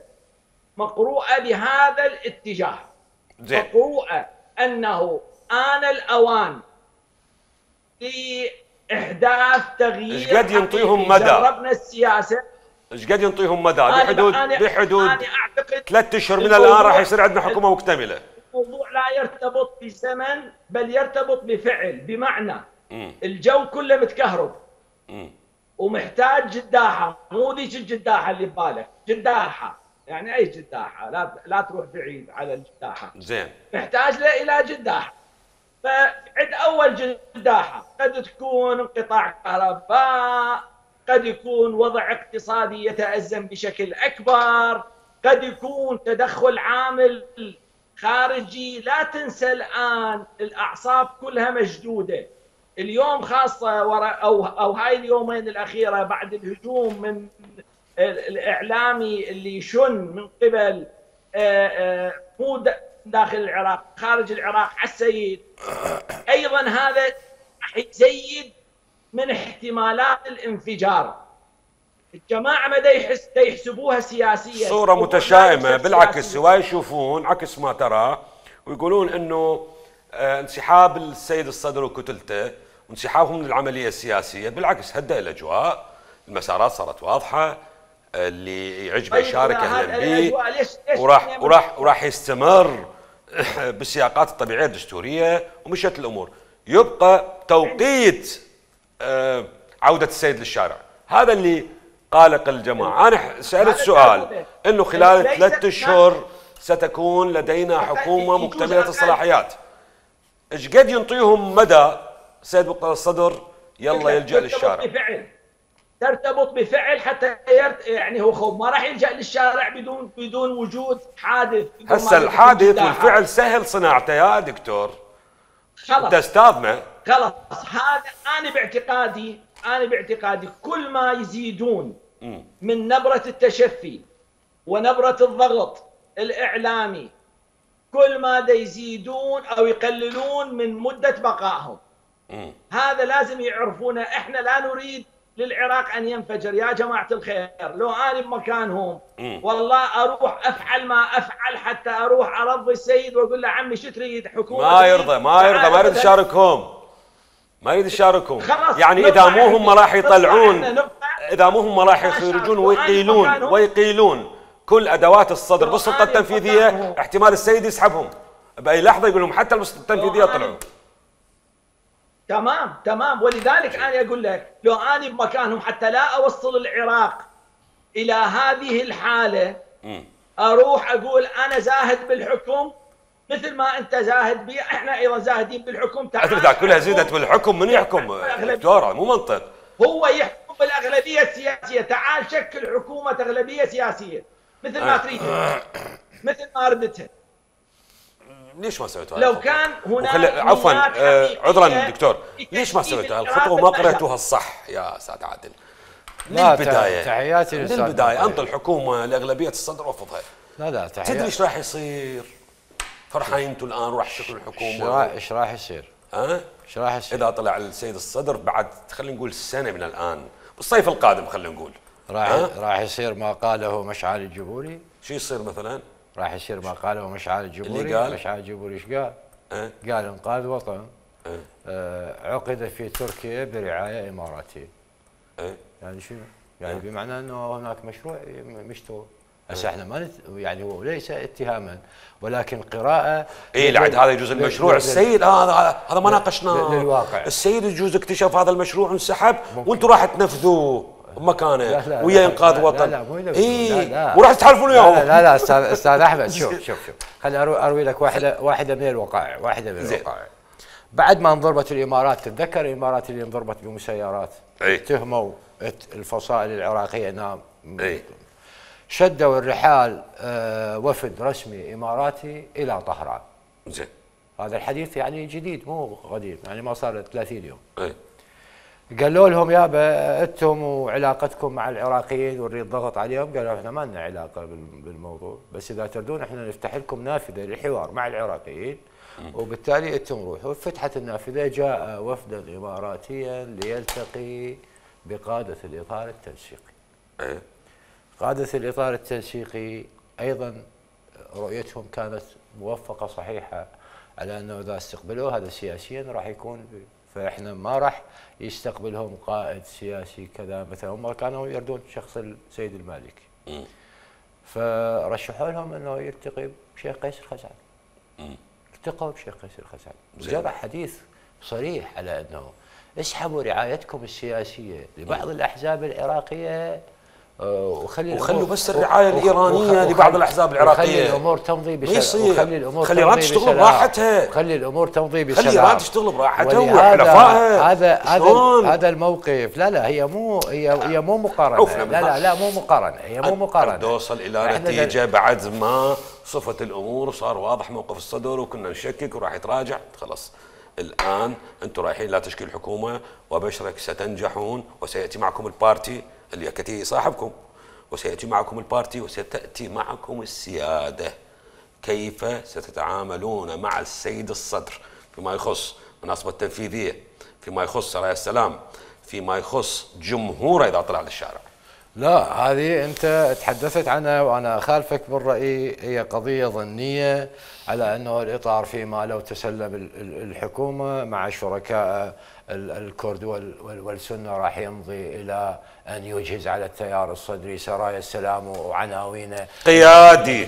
مقروءة بهذا الاتجاه. زين. مقروءة أنه آن الأوان لإحداث تغيير. ايش قد ينطيهم مدى؟ جربنا السياسة. ايش قد ينطيهم مدى؟ بحدود 3 اشهر من الان راح يصير عندنا حكومه مكتمله. الموضوع لا يرتبط بزمن بل يرتبط بفعل، بمعنى الجو كله متكهرب ومحتاج جداحه، مو ذيك الجداحه اللي ببالك، جداحه يعني اي جداحه، لا تروح بعيد على الجداحه. زين. محتاج الى جداحه. فعد اول جداحه قد تكون انقطاع كهرباء، قد يكون وضع اقتصادي يتأزم بشكل اكبر، قد يكون تدخل عامل خارجي. لا تنسى الان الاعصاب كلها مشدوده اليوم، خاصه او هاي اليومين الاخيره بعد الهجوم من الاعلامي اللي يشن من قبل مو داخل العراق خارج العراق على السيد. ايضا هذا راح يزيد من احتمالات الانفجار. الجماعه ما يحسبوها سياسيا، صوره متشائمه. بالعكس هو يشوفون عكس ما ترى ويقولون انه انسحاب السيد الصدر وكتلته وانسحابهم من العمليه السياسيه بالعكس هدأ الاجواء، المسارات صارت واضحه، اللي يعجبه يشارك اهلا به، وراح يستمر بالسياقات الطبيعيه الدستوريه ومشت الامور. يبقى توقيت عوده السيد للشارع، هذا اللي قالق الجماعه. انا سالت سؤال انه خلال 3 اشهر ستكون لدينا حكومه مكتمله الصلاحيات، ايش قد ينطيهم مدى سيد مقتدى الصدر يلا يلجأ للشارع؟ ترتبط بفعل حتى يعني هو ما راح يلجأ للشارع بدون وجود حادث. هسه الحادث والفعل سهل صناعته يا دكتور. خلاص انت استاذنا. خلاص هذا انا باعتقادي كل ما يزيدون من نبرة التشفي ونبرة الضغط الإعلامي، كل ما يزيدون أو يقللون من مدة بقائهم. هذا لازم يعرفونه. احنا لا نريد للعراق أن ينفجر يا جماعة الخير. لو أنا بمكانهم والله أروح أفعل ما أفعل حتى أروح أرضي السيد وأقول له عمي شو تريد حكومة؟ ما يرضى ما يريد يشاركهم. ما يريد يشاركهم. يعني إذا مو هم راح يطلعون، إذا مو هم راح يخرجون ويقيلون كل أدوات الصدر بالسلطة التنفيذية، احتمال السيد يسحبهم بأي لحظة، يقول لهم حتى السلطة التنفيذية طلعوا. تمام. ولذلك أنا أقول لك لو أنا بمكانهم حتى لا أوصل العراق إلى هذه الحالة، أروح أقول أنا زاهد بالحكم مثل ما أنت زاهد بي، إحنا أيضا زاهدين بالحكم. تعال كلها زيدت بالحكم، من يحكم دكتورة؟ مو منطق. هو يحكم بالأغلبية السياسية. تعال شكل حكومة أغلبية سياسية مثل ما تريد، مثل ما أردتها. ليش ما سويتوها؟ لو كان هناك عفوا عذرا دكتور، ليش ما سويتوها الخطوه ما قرأتوها الصح يا استاذ عادل؟ من البدايه تحياتي من البدايه انطي الحكومه لاغلبيه الصدر وفضها. لا تحياتي. تدري ايش راح يصير؟ فرحانين انتم الان راح تشكل الحكومه. ايش راح يصير؟ ايش راح يصير؟ اذا طلع السيد الصدر بعد خلينا نقول سنه من الان بالصيف القادم خلينا نقول راح يصير ما قاله مشعل الجبوري. شو يصير مثلا؟ راح يصير ما قاله مشعل الجبوري. اللي قال مشعل الجبوري ايش قال؟ قال انقاذ وطن عقد في تركيا برعايه اماراتيه. يعني شنو؟ يعني بمعنى انه هناك مشروع مشتغل. هسه احنا ما يعني هو ليس اتهاما ولكن قراءه. لعد هذا يجوز المشروع السيد هذا ما ناقشناه للواقع. السيد يجوز اكتشف هذا المشروع وانسحب وانتم راح تنفذوه بمكانه ويا انقاذ وطن. لا وراح تتحالفون وياهم. لا استاذ احمد شوف خليني اروي لك واحده من الوقائع. بعد ما انضربت الامارات، تتذكر الامارات اللي انضربت بمسيرات اتهموا الفصائل العراقيه انها شدوا الرحال وفد رسمي اماراتي الى طهران. زين. هذا الحديث يعني جديد مو قديم، يعني ما صار 30 يوم. قالوا لهم يابا انتم وعلاقتكم مع العراقيين ونريد ضغط عليهم. قالوا احنا ما لنا علاقه بالموضوع، بس اذا تردون احنا نفتح لكم نافذه للحوار مع العراقيين وبالتالي انتم روحوا. فتحت النافذه، جاء وفدا اماراتيا ليلتقي بقاده الاطار التنسيقي. قادة الإطار التنسيقي أيضا رؤيتهم كانت موفقة صحيحة على أنه إذا استقبلوه هذا سياسيا راح يكون فإحنا ما راح يستقبلهم قائد سياسي كذا مثلا، هم كانوا يردون شخص السيد المالكي. فرشحوا لهم أنه يلتقي بشيخ قيس الخزعلي. التقوا بشيخ قيس الخزعلي، جرى حديث صريح على أنه اسحبوا رعايتكم السياسية لبعض الأحزاب العراقية وخلوا بس الرعايه الايرانيه لبعض الاحزاب العراقيه، خلي الامور تمضي بسلام، خلي ايران تشتغل براحتها، خلي الامور تمضي بسلام، خلي ايران تشتغل براحتها وحلفائها. هذا الموقف لا هي مو مقارنه، لا مو مقارنه، هي مو مقارنه. توصل الى نتيجه بعد ما صفت الامور وصار واضح موقف الصدر وكنا نشكك وراح يتراجع. خلاص الان انتم رايحين لا تشكيل حكومه وبشرك ستنجحون وسياتي معكم البارتي اللي يكتي صاحبكم، وسيأتي معكم البارتي وستأتي معكم السيادة. كيف ستتعاملون مع السيد الصدر فيما يخص مناصبة التنفيذية، فيما يخص سرايا السلام، فيما يخص جمهوره إذا طلع للشارع؟ لا هذه أنت تحدثت عنها وأنا أخالفك بالرأي، هي قضية ظنية على أنه الإطار فيما لو تسلم الحكومة مع شركاء الكرد والسنة راح يمضي إلى أن يجهز على التيار الصدري سرايا السلام وعناوينه قيادي.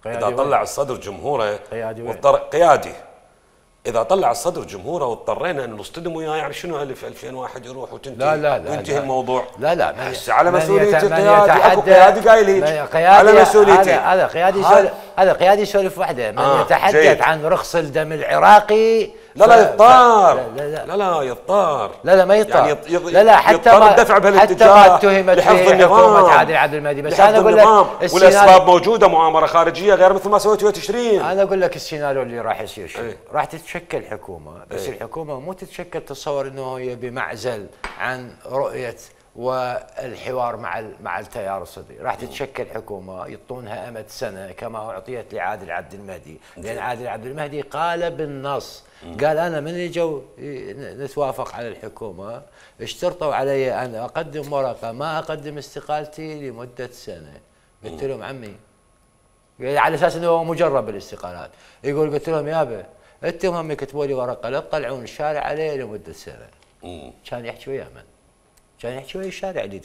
إذا طلع وين؟ الصدر جمهوره قيادي قيادي. إذا طلع الصدر جمهوره واضطرينا أن نصطدم وياه، يعني شنو 2001 يروح وتنتهي وينتهي الموضوع؟ لا هسه على مسؤولية القيادي. اكو قيادي قايل هيك على مسؤوليتي. هذا قيادي يسولف وحده. من يتحدث عن رخص الدم العراقي لا يضطر. لا يضطر. لا ما يضطر. يعني لا حتى ما الدفع حتى ما اتهمت في حكومة عادل عبد المهدي، بس انا اقول لك والاسباب موجوده، مؤامره خارجيه غير مثل ما سويتوا تشرين. انا اقول لك السيناريو اللي راح يصير شو؟ راح تتشكل حكومه، بس الحكومه مو تتشكل تصور انه هي بمعزل عن رؤيه والحوار مع التيار الصدري، راح تتشكل حكومه يعطونها امد سنه كما اعطيت لعادل عبد المهدي، لان عادل عبد المهدي قال بالنص، قال انا من اجوا نتوافق على الحكومه اشترطوا علي ان اقدم ورقه ما اقدم استقالتي لمده سنه. قلت لهم عمي، على اساس انه هو مجرب بالاستقالات، يقول قلت لهم يابا انتم هم كتبوا لي ورقه لا تطلعون الشارع علي لمده سنه. كان يحكي ويا من؟ كان يحكي ويا الشارع اللي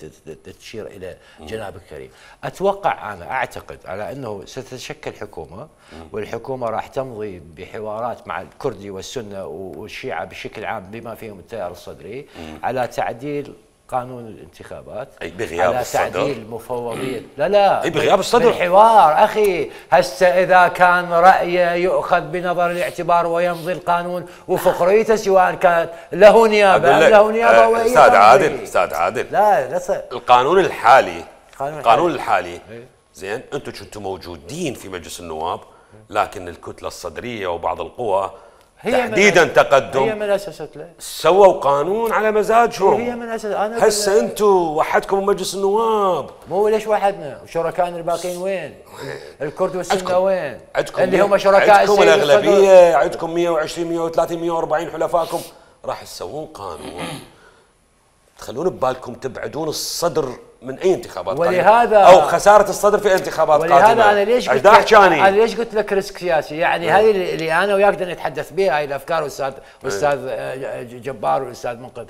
تشير الى جناب الكريم. اتوقع انا اعتقد على انه ستتشكل حكومه، والحكومه راح تمضي بحوارات مع الكردي والسنه والشيعه بشكل عام بما فيهم التيار الصدري على تعديل قانون الانتخابات، اي بغياب على الصدر، تعديل مفوضيه لا اي بغياب الصدر بالحوار اخي. هسه اذا كان رايه يؤخذ بنظر الاعتبار ويمضي القانون وفقريته، سواء كانت له نيابه له نيابه استاذ عادل لا القانون الحالي زين، انتم كنتم موجودين في مجلس النواب، لكن الكتله الصدريه وبعض القوى تحديدا تقدم هي من اسست له، سووا قانون على مزاجهم. هي من اسس. انا هسه انتم وحدكم مجلس النواب، مو ليش وحدنا؟ وشركائنا الباقيين وين؟ الكرد والسنه وين؟ عندكم اللي هم شركاء عندكم الاغلبيه، عندكم 120 130 140 حلفائكم، راح تسوون قانون تخلون ببالكم تبعدون الصدر من اي انتخابات ولهذا او خساره الصدر في انتخابات قادمه. ولهذا انا ليش قلت لك ريسك سياسي، يعني هذه اللي انا وياك نتحدث بها، هاي الافكار استاذ جبار والاستاذ منقذ،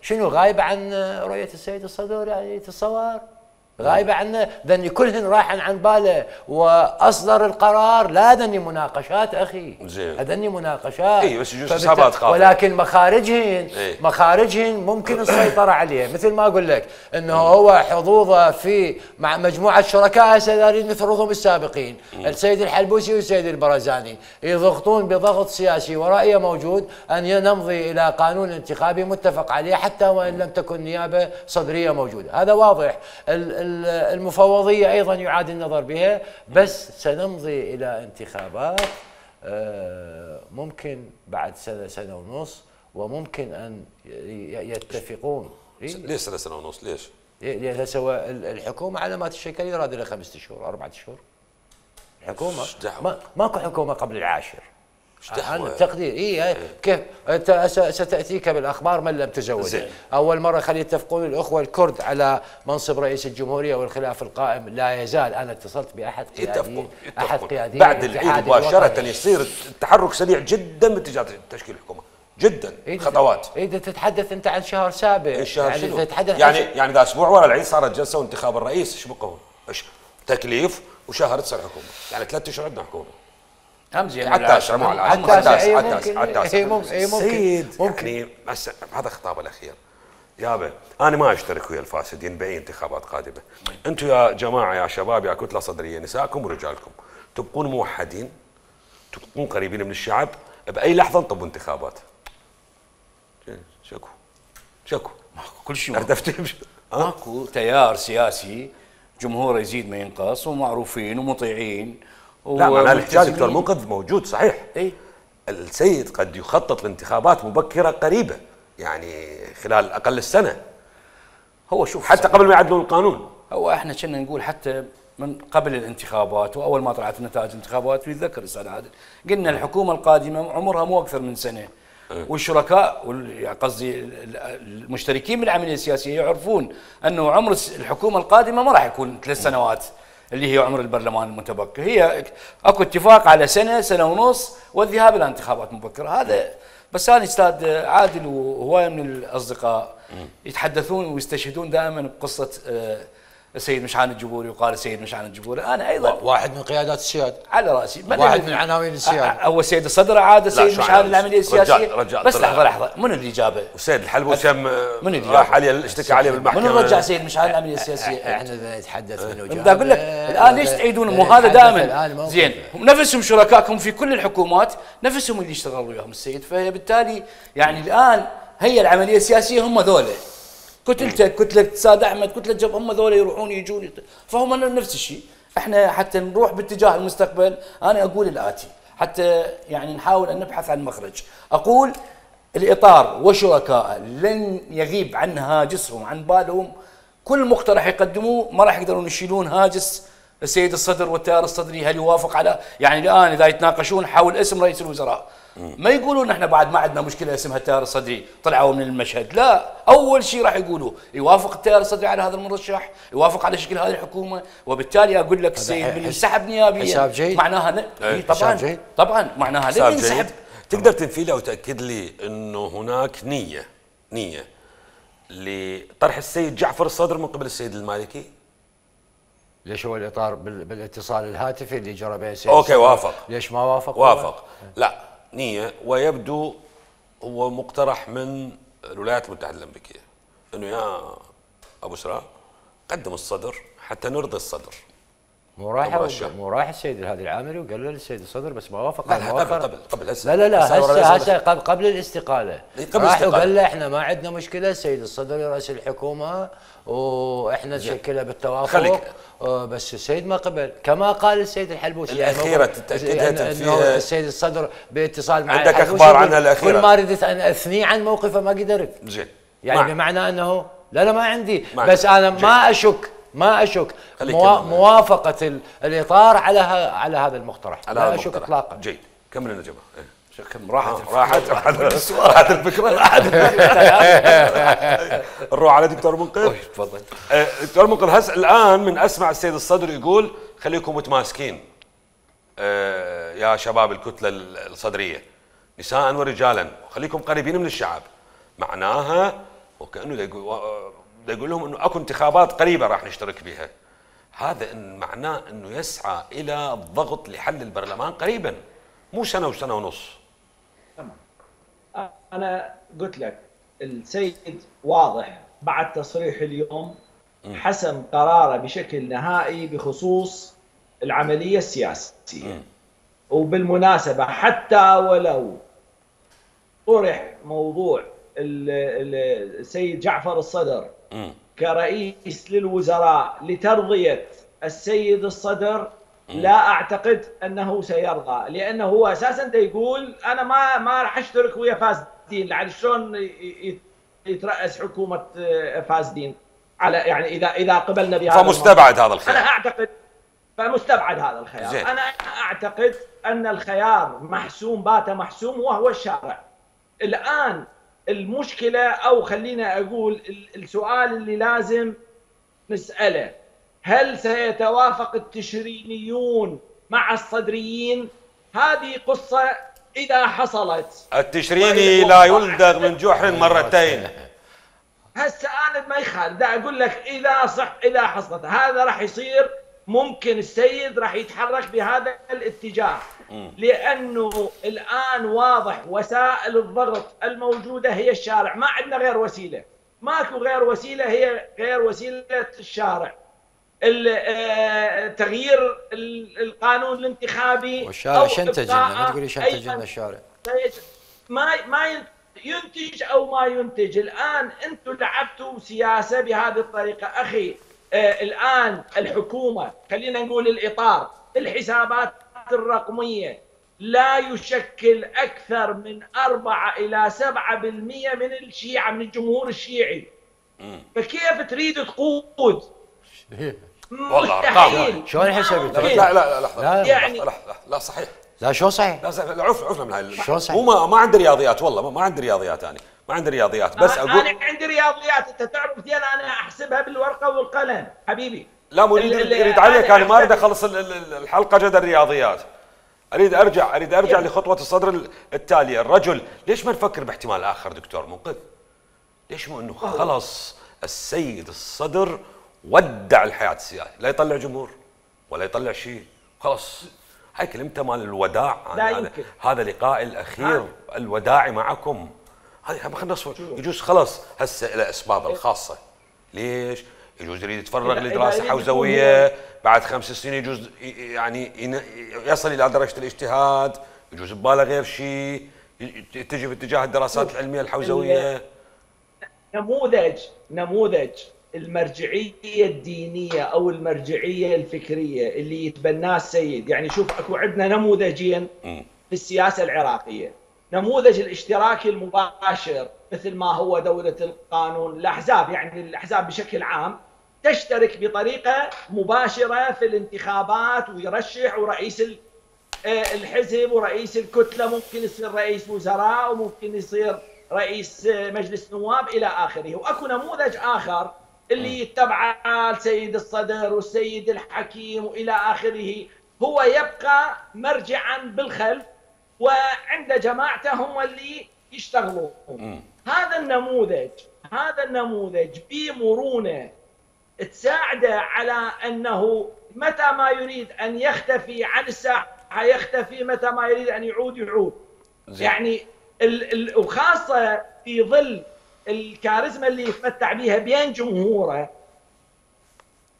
شنو غايبه عن رؤيه السيد الصدر؟ يعني تتصور غايبه عنه، ذني كلهن راحن عن باله واصدر القرار. لا ذني مناقشات اخي، هذني مناقشات، اي بس يجوز حسابات خاطئه، ولكن مخارجهن ممكن السيطره عليه. مثل ما اقول لك انه هو حظوظه في مع مجموعه شركاء هسه دارين نفرضهم السابقين، السيد الحلبوسي والسيد البرزاني، يضغطون بضغط سياسي ورأيه موجود ان نمضي الى قانون انتخابي متفق عليه حتى وان لم تكن نيابه صدريه موجوده. هذا واضح. المفوضية أيضا يعاد النظر بها، بس سنمضي إلى انتخابات ممكن بعد سنة ونص، وممكن أن يتفقون. ليش سنة ونص؟ ليش؟ لأن هسه الحكومة على ما تشكل يراد لها 5 أشهر 4 أشهر. الحكومة ماكو حكومة قبل العاشر. أنا تقدير كيف انت ستاتيك بالاخبار من لم تزوج. اول مره خلي يتفقون الاخوه الكرد على منصب رئيس الجمهوريه والخلاف القائم لا يزال. انا اتصلت باحد قياديين بعد العيد مباشره يصير التحرك سريع جدا باتجاه تشكيل الحكومه جدا. خطوات اذا تتحدث انت عن شهر سابع يعني تتحدث يعني ذا اسبوع ورا العيد صارت جلسه وانتخاب الرئيس. ايش بقوا؟ تكليف وشهر تصير حكومه، يعني 3 اشهر عندنا حكومه. حتى اشهر مو على حتى سيد ممكن. بس هذا خطابه الاخير يابا، انا ما اشترك ويا الفاسدين باي انتخابات قادمه. انتم يا جماعه يا شباب يا كتله صدريه نسائكم ورجالكم تبقون موحدين، تبقون قريبين من الشعب، باي لحظه انطبوا انتخابات. شكو كل شيء ماكو تيار سياسي جمهوره يزيد ما ينقص ومعروفين ومطيعين. لا معناه الاحتجاج دكتور منقذ موجود صحيح. السيد قد يخطط لانتخابات مبكره قريبه، يعني خلال اقل السنه. هو شوف حتى قبل ما يعدلون القانون. هو احنا كنا نقول حتى من قبل الانتخابات واول ما طلعت نتائج الانتخابات ويتذكر الاستاذ عادل قلنا الحكومه القادمه عمرها مو اكثر من سنه. والشركاء قصدي المشتركين بالعمليه السياسيه يعرفون انه عمر الحكومه القادمه ما راح يكون 3 سنوات اللي هي عمر البرلمان المتبقي. هي اكو اتفاق على سنه ونص والذهاب الى انتخابات مبكره. هذا بس انا استاذ عادل وهوايه من الاصدقاء يتحدثون ويستشهدون دائما بقصه السيد مشعان الجبوري وقال السيد مشعان الجبوري. انا ايضا واحد من قيادات السياده على راسي، واحد من عناوين السياده. هو السيد الصدر عاد السيد مشعان العمليه السياسيه. بس لحظه من اللي جابه؟ وسيد الحلبوسي راح عليه اشتكى عليه بالمحكمه. من رجع سيد مشعان العمليه السياسيه؟ احنا نتحدث منه. بدي اقول لك الان ليش تعيدون مو هذا دائما زين؟ نفسهم شركائكم في كل الحكومات نفسهم اللي يشتغلوا وياهم السيد. فهي بالتالي يعني الان هي العمليه السياسيه هم ذولا كتلتك كتله ساد احمد كتله جب هم ذولا يروحون يجون فهم نفس الشيء. احنا حتى نروح باتجاه المستقبل انا اقول الاتي حتى يعني نحاول ان نبحث عن مخرج. اقول الاطار وشركائه لن يغيب عن هاجسهم عن بالهم. كل مقترح يقدموه ما راح يقدرون يشيلون هاجس السيد الصدر والتيار الصدري. هل يوافق على يعني الان اذا يتناقشون حول اسم رئيس الوزراء ما يقولون احنا بعد ما عندنا مشكله اسمها التيار الصدري طلعوا من المشهد. لا، اول شيء راح يقولوا يوافق التيار الصدري على هذا المرشح، يوافق على شكل هذه الحكومه. وبالتالي اقول لك السيد من ينسحب نيابيا معناها طبعا معناها لن ينسحب. تقدر تنفي لي او تاكد لي انه هناك نيه لطرح السيد جعفر الصدر من قبل السيد المالكي؟ ليش هو الاطار بالاتصال الهاتفي اللي جرى بين السيد اوكي وافق. ليش ما وافق؟ وافق. لا نيه، ويبدو هو مقترح من الولايات المتحده الامريكيه انه يا ابو سراء قدم الصدر حتى نرضي الصدر. مو راح السيد الهادي العامري وقال له للسيد الصدر بس ما وافق. قبل هسه. لا هسه قبل الاستقاله راح وقال له احنا ما عندنا مشكله السيد الصدر يرأس الحكومه واحنا نشكلها بالتوافق. بس السيد ما قبل كما قال السيد الحلبوسي. الاخيره تاكدها انه السيد الصدر باتصال مع عندك اخبار عنها الاخيره؟ كل ما ردت ان اثني عن موقفه ما قدرت. زين يعني بمعنى انه لا ما عندي بس انا ما اشك موافقه الاطار على هذا المقترح. لا اشك اطلاقا. جيد كمل لنا جماعه. كم راحت الفكره. نروح على دكتور منقذ. تفضل دكتور منقذ. هسه الان من اسمع السيد الصدر يقول خليكم متماسكين يا شباب الكتله الصدريه نساء ورجالا خليكم قريبين من الشعب. معناها وكانه يقول لهم انه اكو انتخابات قريبه راح نشترك بها. هذا إن معناه انه يسعى الى الضغط لحل البرلمان قريبا، مو سنه وسنه ونص. تمام. انا قلت لك السيد واضح بعد تصريح اليوم حسم قراره بشكل نهائي بخصوص العمليه السياسيه. وبالمناسبه حتى ولو طرح موضوع السيد جعفر الصدر كرئيس للوزراء لترضية السيد الصدر لا أعتقد أنه سيرضى، لأنه هو أساساً يقول أنا ما راح أشترك ويا فاسدين. لعل شلون يترأس حكومة فاسدين على يعني إذا قبلنا بهذا فمستبعد هذا الخيار. أنا أعتقد فمستبعد هذا الخيار. زين. انا اعتقد ان الخيار محسوم، بات محسوم، وهو الشارع. الان المشكله، او خلينا اقول السؤال اللي لازم نساله، هل سيتوافق التشرينيون مع الصدريين؟ هذه قصه اذا حصلت. التشريني لا يلدغ من جحر مرتين. هسه انا ما يخالف، دا اقول لك اذا حصلت هذا راح يصير، ممكن السيد راح يتحرك بهذا الاتجاه، لانه الان واضح وسائل الضغط الموجوده هي الشارع، ما عندنا غير وسيله، ماكو غير وسيله، هي غير وسيله الشارع. تغيير القانون الانتخابي، والشارع شنتج لنا، ما تقولي شنتج لنا الشارع. ما ينتج او ما ينتج. الان انتم لعبتوا سياسه بهذه الطريقه اخي. الان الحكومه، خلينا نقول الاطار، الحسابات الرقميه لا يشكل اكثر من 4 إلى 7% من الشيعه، من الجمهور الشيعي. فكيف تريد تقود؟ والله مستحيل. شلون حسبت؟ لا لحظه، يعني لا صحيح. لا شو صحيح؟ لا عفنا من هاي. شو صحيح؟ مو ما عندي رياضيات، والله ما عندي رياضيات، انا ما عندي رياضيات، بس اقول انا عندي رياضيات، انت تعرف زين انا احسبها بالورقه والقلم حبيبي. لا مو يريد عليك، انا ما اريد اخلص الحلقه جد الرياضيات. اريد ارجع لخطوه الصدر التاليه. الرجل ليش ما نفكر باحتمال اخر دكتور منقذ؟ ليش مو انه خلص السيد الصدر ودع الحياه السياسيه، لا يطلع جمهور ولا يطلع شيء، خلص. هاي كلمته مال الوداع. هذا لقائي الاخير الوداعي معكم. هاي خلينا نصفر. يجوز خلص هسه الى اسباب الخاصه. ليش؟ يجوز يريد يتفرغ لدراسه حوزويه، بعد 5 سنين يجوز يعني يصل الى درجه الاجتهاد، يجوز بباله غير شيء، تجي باتجاه الدراسات العلميه الحوزويه. نموذج المرجعيه الدينيه او المرجعيه الفكريه اللي يتبناه السيد. يعني شوف، اكو عندنا نموذجين في السياسه العراقيه. نموذج الاشتراك المباشر، مثل ما هو دولة القانون. الأحزاب، يعني الأحزاب بشكل عام تشترك بطريقة مباشرة في الانتخابات، ويرشح، ورئيس الحزب ورئيس الكتلة ممكن يصير رئيس وزراء، وممكن يصير رئيس مجلس نواب إلى آخره. وأكو نموذج آخر اللي يتبعه السيد الصدر والسيد الحكيم وإلى آخره، هو يبقى مرجعا بالخلف، وعند جماعته هم اللي يشتغلون. هذا النموذج بمرونة تساعده على أنه متى ما يريد أن يختفي عن الساحة يختفي، متى ما يريد أن يعود. يعني وخاصة في ظل الكاريزما اللي يتمتع بها بين جمهوره،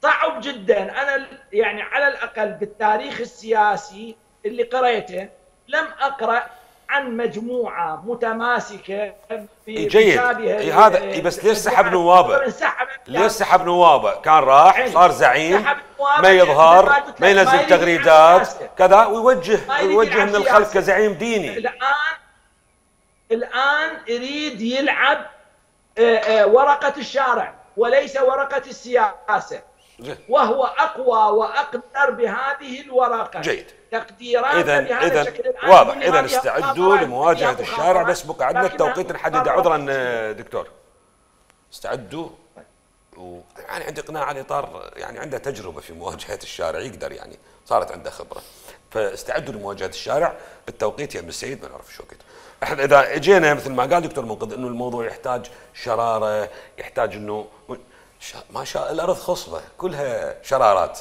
صعب جدا. أنا يعني على الأقل بالتاريخ السياسي اللي قرأته لم أقرأ عن مجموعة متماسكة جيد. هذا بس ليش سحب نوابه؟ ليش سحب نوابه؟ كان راح صار زعيم، ما يظهر، ما ينزل تغريدات كذا، ويوجه من الخلف كزعيم ديني. الآن يريد يلعب ورقة الشارع وليس ورقة السياسة، وهو أقوى وأقدر بهذه الورقة. جيد. تقديرات إذا واضح. إذا استعدوا لمواجهة الشارع، بس بقى عندنا التوقيت نحدد. عذرا دكتور، استعدوا. يعني عندي إقناع على إطار، يعني عنده تجربة في مواجهة الشارع، يقدر، يعني صارت عنده خبرة، فاستعدوا لمواجهة الشارع. التوقيت يا ابن السيد ما نعرف شو وقت. احنا اذا اجينا مثل ما قال دكتور منقذ انه الموضوع يحتاج شراره، يحتاج انه ما شاء الارض خصبه كلها شرارات،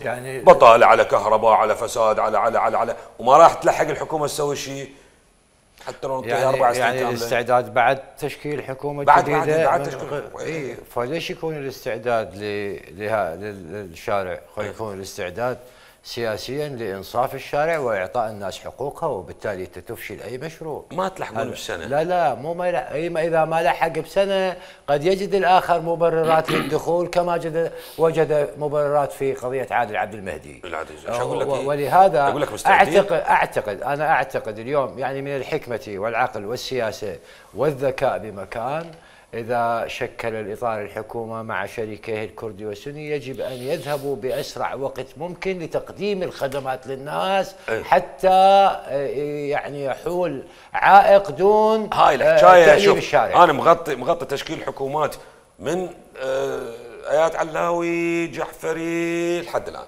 يعني بطاله على كهرباء على فساد على وما راح تلحق الحكومه تسوي شيء حتى لو يعني 4 سنين يعني الاستعداد بعد تشكيل حكومه جديده. بعد تشكيل. فليش يكون الاستعداد للشارع؟ يكون الاستعداد سياسيا لانصاف الشارع واعطاء الناس حقوقها، وبالتالي تفشل اي مشروع. ما تلحقون بسنه. لا مو ما اذا ما لحق بسنه قد يجد الاخر مبررات للدخول، كما وجد مبررات في قضيه عادل عبد المهدي. ولهذا اعتقد اليوم، يعني من الحكمه والعقل والسياسه والذكاء بمكان إذا شكل الإطار الحكومة مع شريكيه الكردي والسني يجب أن يذهبوا بأسرع وقت ممكن لتقديم الخدمات للناس حتى يعني يحول عائق دون هاي الحكاية. تأليف الشارع. أنا مغطي تشكيل حكومات من آيات علاوي جعفري لحد الآن،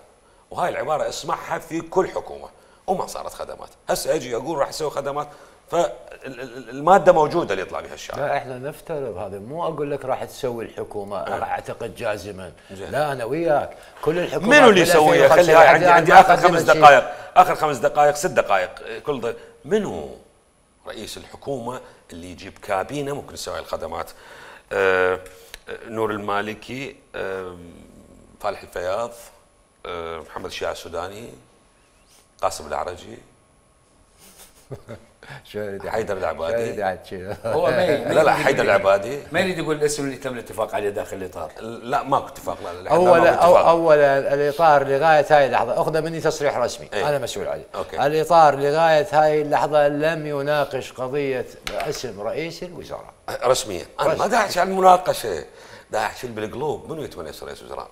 وهاي العبارة اسمعها في كل حكومة وما صارت خدمات. هسه أجي أقول راح أسوي خدمات، فالمادة موجودة اللي يطلع بها الشارع. لا احنا نفترض هذا، مو اقول لك راح تسوي الحكومه اعتقد جازما. لا انا وياك كل الحكومات منو اللي يسويها؟ خلي هاي عندي اخر 5 دقائق، اخر 5 دقائق 6 دقائق كل ضيف. منو رئيس الحكومه اللي يجيب كابينه ممكن يسوي الخدمات؟ نور المالكي، فالح الفياض، محمد الشيع السوداني، قاسم العرجي، حيدر العبادي. هو لا حيدر العبادي ما يريد يقول الاسم اللي تم الاتفاق عليه داخل الاطار. لا ماكو اتفاق. لا اولا الاطار لغايه هاي اللحظه اخذ مني تصريح رسمي. انا مسؤول عليه. الاطار لغايه هاي اللحظه لم يناقش قضيه اسم رئيس الوزراء رسميا. انا ما داعش على المناقشه، داعش بالقلوب. منو يتمنى يصير رئيس وزراء؟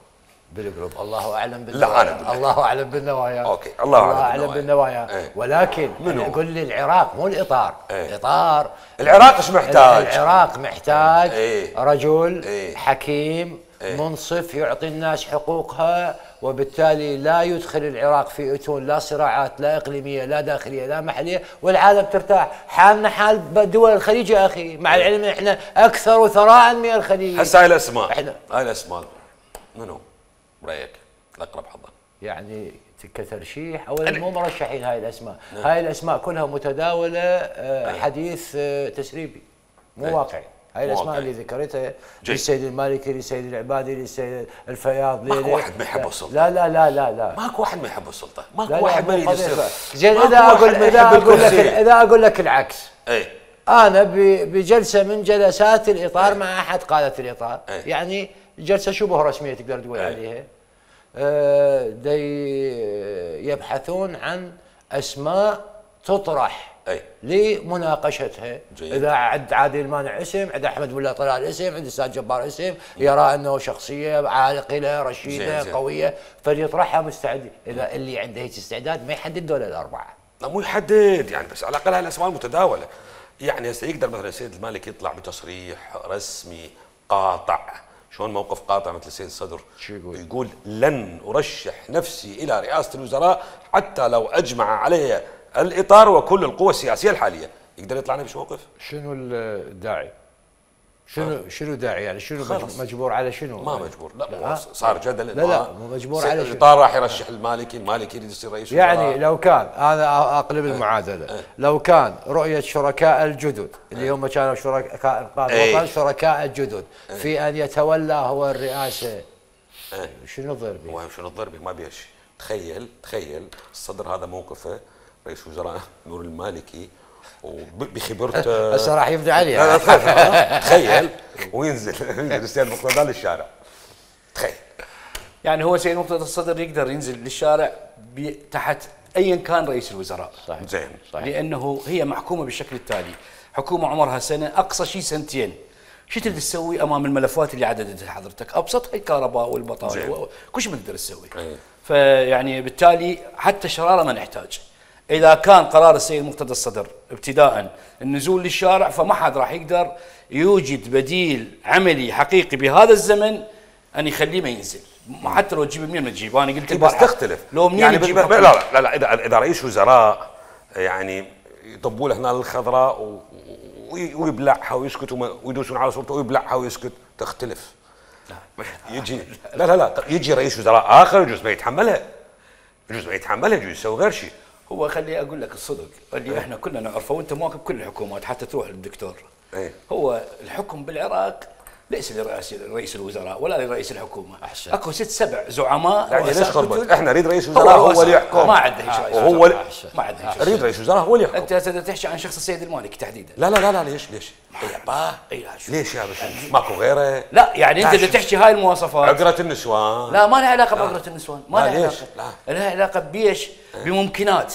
بالقلوب الله اعلم بالنوايا. الله اعلم بالنوايا. اوكي الله اعلم بالنوايا. ولكن اقول لي العراق مو الاطار. الاطار العراق ايش محتاج؟ العراق محتاج رجل حكيم منصف يعطي الناس حقوقها، وبالتالي لا يدخل العراق في اتون لا صراعات لا اقليميه لا داخليه لا محليه، والعالم ترتاح. حالنا حال دول الخليج يا اخي، مع العلم احنا اكثر ثراء من الخليج. هسه هاي الاسماء منو برايك الاقرب حظا؟ يعني كترشيح اولا مو مرشحين هاي الاسماء. هاي الاسماء كلها متداوله حديث تسريبي مو واقعي. هاي الاسماء اللي ذكرتها للسيد المالكي، للسيد العبادي، للسيد الفياض، ماكو واحد ما يحب السلطه. لا لا لا لا لا ماكو واحد ما يحب السلطه، ماكو واحد ما يريد يصير. زين اذا اقول لك العكس. انا بجلسه من جلسات الاطار مع احد قاده الاطار، يعني جلسه شبه رسميه تقدر تقول عليها، يبحثون عن اسماء تطرح لمناقشتها. اذا عند عادل المانع اسم، عند احمد ولا طلال اسم، عند الاستاذ جبار اسم، يرى انه شخصيه عاقله رشيده قويه فليطرحها مستعد. اذا اللي عنده هيك استعداد ما يحدد دول الاربعه. لا مو يحدد يعني، بس على الاقل هاي الاسماء المتداوله. يعني هسه يقدر مثلا السيد المالكي يطلع بتصريح رسمي قاطع. شلون موقف قاطع مثل السيد الصدر؟ يقول لن ارشح نفسي الى رئاسه الوزراء حتى لو اجمع علي الاطار وكل القوى السياسيه الحاليه. يقدر يطلع بش موقف؟ شنو الداعي؟ شنو داعي يعني؟ شنو مجبور على شنو؟ ما مجبور. لا صار جدل. لا مو مجبور على شنو. الاطار راح يرشح المالكي يريد يصير رئيس وزراء. يعني لو كان انا اقلب المعادله، لو كان رؤيه شركاء الجدد اللي هم كانوا شركاء الجدد في ان يتولى هو الرئاسه، شنو ضربي؟ شنو ضربي؟ ما بيش. تخيل الصدر هذا موقفه رئيس وزراء نور المالكي وبخبرته هسه راح يبدأ عليه. تخيل وينزل السيد مقتدى للشارع. تخيل يعني هو سيد مقتدى الصدر يقدر ينزل للشارع تحت ايا كان رئيس الوزراء. صحيح. زين. لانه هي محكومه بالشكل التالي، حكومه عمرها سنه اقصى شيء سنتين. شو تقدر تسوي امام الملفات اللي عددتها حضرتك؟ ابسطها الكهرباء والبطاله كل شيء ما تقدر تسوي. فيعني بالتالي حتى الشراره ما نحتاج. إذا كان قرار السيد مقتدى الصدر ابتداء النزول للشارع، فما حد راح يقدر يوجد بديل عملي حقيقي بهذا الزمن أن يخليه ما ينزل. حتى لو تجيب منين ما تجيب، أنا قلت بس تختلف. لو منين يعني لا إذا رئيس وزراء يعني يطبوا له هنا الخضراء ويبلعها ويسكت ويدوسون على صورته ويبلعها ويسكت، تختلف. يجي لا يجي رئيس وزراء آخر يجوز ما يتحملها، يجوز يسوي غير شيء. هو خلي اقول لك الصدق اللي احنا كلنا نعرفه وانت مواكب كل الحكومات حتى تروح للدكتور. هو الحكم بالعراق ليس لرئيس الوزراء ولا لرئيس الحكومه. اكو 6 7 زعماء. يعني ليش خربت؟ احنا نريد رئيس وزراء هو اللي يحكم. ما عنده رئيس وزراء. ما عنده نريد رئيس وزراء هو اللي يحكم. انت تحكي عن شخص السيد المالكي تحديدا. لا ليش؟ ليش يا باشا؟ ماكو غيره؟ لا يعني انت اللي تحكي هاي المواصفات. عقرة النسوان. لا ما لها علاقه بعقرة النسوان، ما لها علاقه. لها علاقه بيش بممكنات.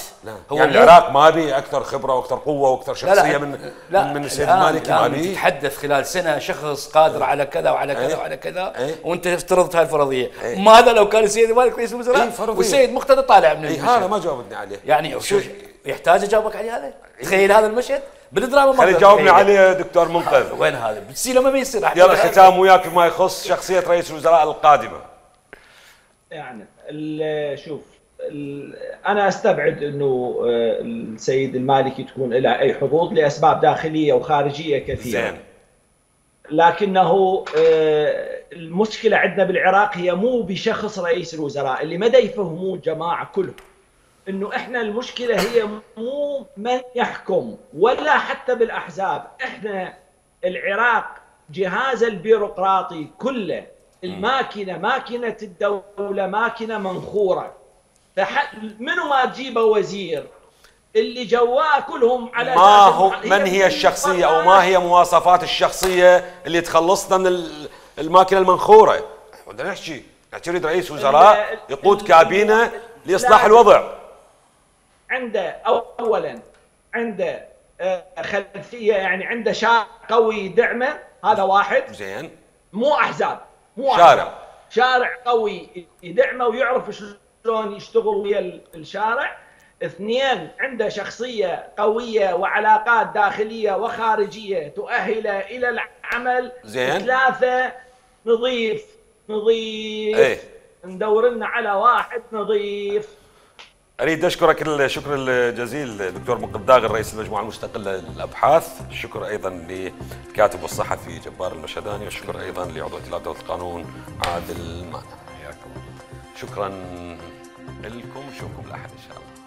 هو يعني العراق ما بي اكثر خبره واكثر قوه واكثر شخصيه من السيد المالكي؟ ما بي. تتحدث خلال سنه شخص قادر على كذا وعلى كذا وعلى كذا، وانت افترضت هاي الفرضيه. ماذا لو كان السيد المالكي رئيس الوزراء والسيد مقتدى طالع من المشهد؟ هذا ما جاوبتني عليه. يعني شو يحتاج اجاوبك عليه هذا؟ تخيل هذا المشهد بالدراما. خلي تجاوبني عليه دكتور منقذ. وين هذا بتصير لما بيصير؟ يلا ختام وياك فيما يخص شخصيه رئيس الوزراء القادمه. يعني شوف، انا استبعد انه السيد المالكي تكون له اي حظوظ لاسباب داخليه وخارجيه كثيره. زين. لكنه المشكله عندنا بالعراق هي مو بشخص رئيس الوزراء، اللي ما يفهمون الجماعه كلهم انه احنا المشكله هي مو من يحكم ولا حتى بالاحزاب، احنا العراق جهاز البيروقراطي كله، الماكينه ماكينه الدوله ماكينه منخوره. منو ما تجيبه وزير اللي جواه كلهم على ما هو من هي الشخصيه او ما هي مواصفات الشخصيه اللي تخلصنا من الماكينه المنخوره؟ بدنا نحكي نريد رئيس وزراء يقود كابينه لاصلاح الوضع. عنده اولا عنده خلفيه، يعني عنده شارع قوي يدعمه، هذا واحد. زين. مو احزاب، مو شارع قوي يدعمه ويعرف شلون يشتغل ويا الشارع. اثنين، عنده شخصيه قويه وعلاقات داخليه وخارجيه تؤهله الى العمل. زين. ثلاثه، نظيف. ايه. ندور لنا على واحد نظيف. اريد اشكرك الشكر الجزيل دكتور منقذ داغر رئيس المجموعه المستقله للابحاث، الشكر ايضا للكاتب والصحفي جبار المشهداني، والشكر ايضا لعضو ائتلاف دوله القانون عادل مانع. حياكم الله. شكرا لكم، نشوفكم الاحد ان شاء الله.